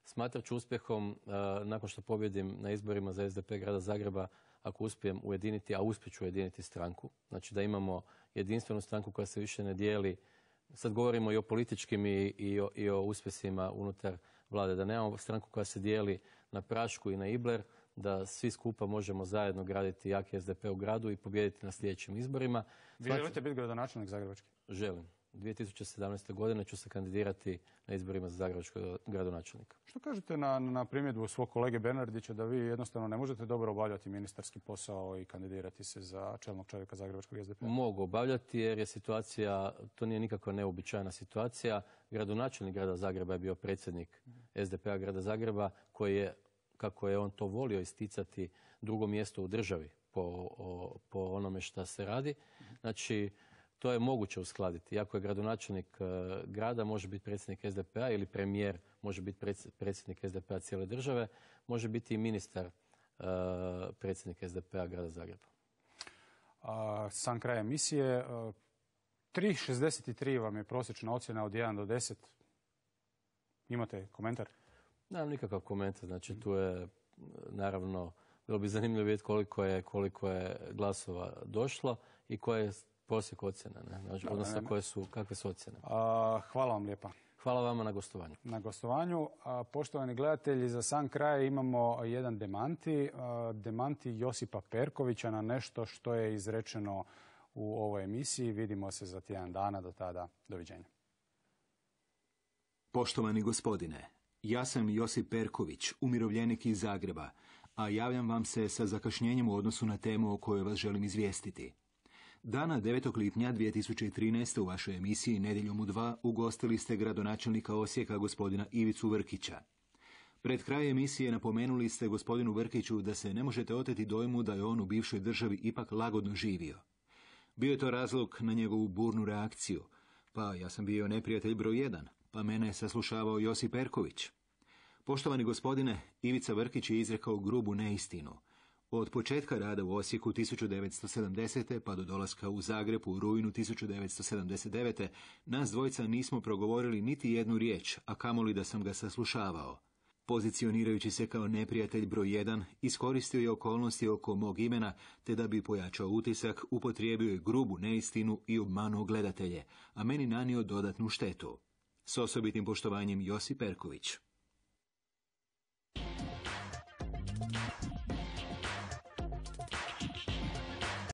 Smatrat ću uspjehom, uh, nakon što pobjedim na izborima za S D P grada Zagreba, ako uspijem ujediniti, a uspjet ću ujediniti stranku. Znači da imamo jedinstvenu stranku koja se više ne dijeli. Sad govorimo i o političkim i, i, o, i o uspjesima unutar vlade. Da nemamo stranku koja se dijeli na Prašku i na Ibler, da svi skupa možemo zajedno graditi jaki S D P u gradu i pobijediti na sljedećim izborima. Vi znači, želite biti gradonačelnik zagrebački? Želim. dvije tisuće sedamnaeste. godine ću se kandidirati na izborima za zagrebačkog gradonačelnika. Što kažete na, na primjedbu svog kolege Bernardića da vi jednostavno ne možete dobro obavljati ministarski posao i kandidirati se za čelnog čovjeka zagrebačkog S D P-a? Mogu obavljati jer je situacija, to nije nikakva neobičajna situacija. Gradonačelnik grada Zagreba je bio predsjednik S D P-a grada Zagreba koji je, kako je on to volio isticati, drugo mjesto u državi po, o, po onome što se radi. Znači, to je moguće uskladiti. Iako je gradonačelnik uh, grada, može biti predsjednik S D P-a ili premijer može biti predsjednik S D P-a cijele države, može biti i ministar uh, predsjednik S D P-a grada Zagreba. A, sam kraj emisije. Uh, tri zarez šezdeset tri vam je prosječna ocjena od jedan do deset. Imate komentar? Nemam nikakav komentar. Znači, tu je, naravno, bilo bi zanimljivo vidjeti koliko je, koliko je glasova došlo i koje je prosjek ocjena, ne? Znači, odnosno koje su, kakve su ocjene. A, hvala vam lijepa. Hvala vama na gostovanju. Na gostovanju. A, poštovani gledatelji, za sam kraj imamo jedan demanti. A, demanti Josipa Perkovića na nešto što je izrečeno u ovoj emisiji. Vidimo se za tjedan dana. Do tada, doviđenja. Poštovani gospodine, ja sam Josip Perković, umirovljenik iz Zagreba, a javljam vam se sa zakašnjenjem u odnosu na temu o kojoj vas želim izvijestiti. Dana devetog lipnja dvije tisuće trinaeste. u vašoj emisiji Nedjeljom u dva ugostili ste gradonačelnika Osijeka gospodina Ivicu Vrkića. Pred kraj emisije napomenuli ste gospodinu Vrkiću da se ne možete oteti dojmu da je on u bivšoj državi ipak lagodno živio. Bio je to razlog na njegovu burnu reakciju. Pa ja sam bio neprijatelj broj jedan, pa mene je saslušavao Josip Perković. Poštovani gospodine, Ivica Vrkić je izrekao grubu neistinu. Od početka rada u Osijeku tisuću devetsto sedamdesete. pa do dolaska u Zagreb u rujnu tisuću devetsto sedamdeset devete. nas dvojica nismo progovorili niti jednu riječ, a kamoli da sam ga saslušavao. Pozicionirajući se kao neprijatelj broj jedan, iskoristio je okolnosti oko mog imena, te da bi pojačao utisak, upotrijebio je grubu neistinu i obmanuo gledatelje, a meni nanio dodatnu štetu. S osobitim poštovanjem, Josip Perković.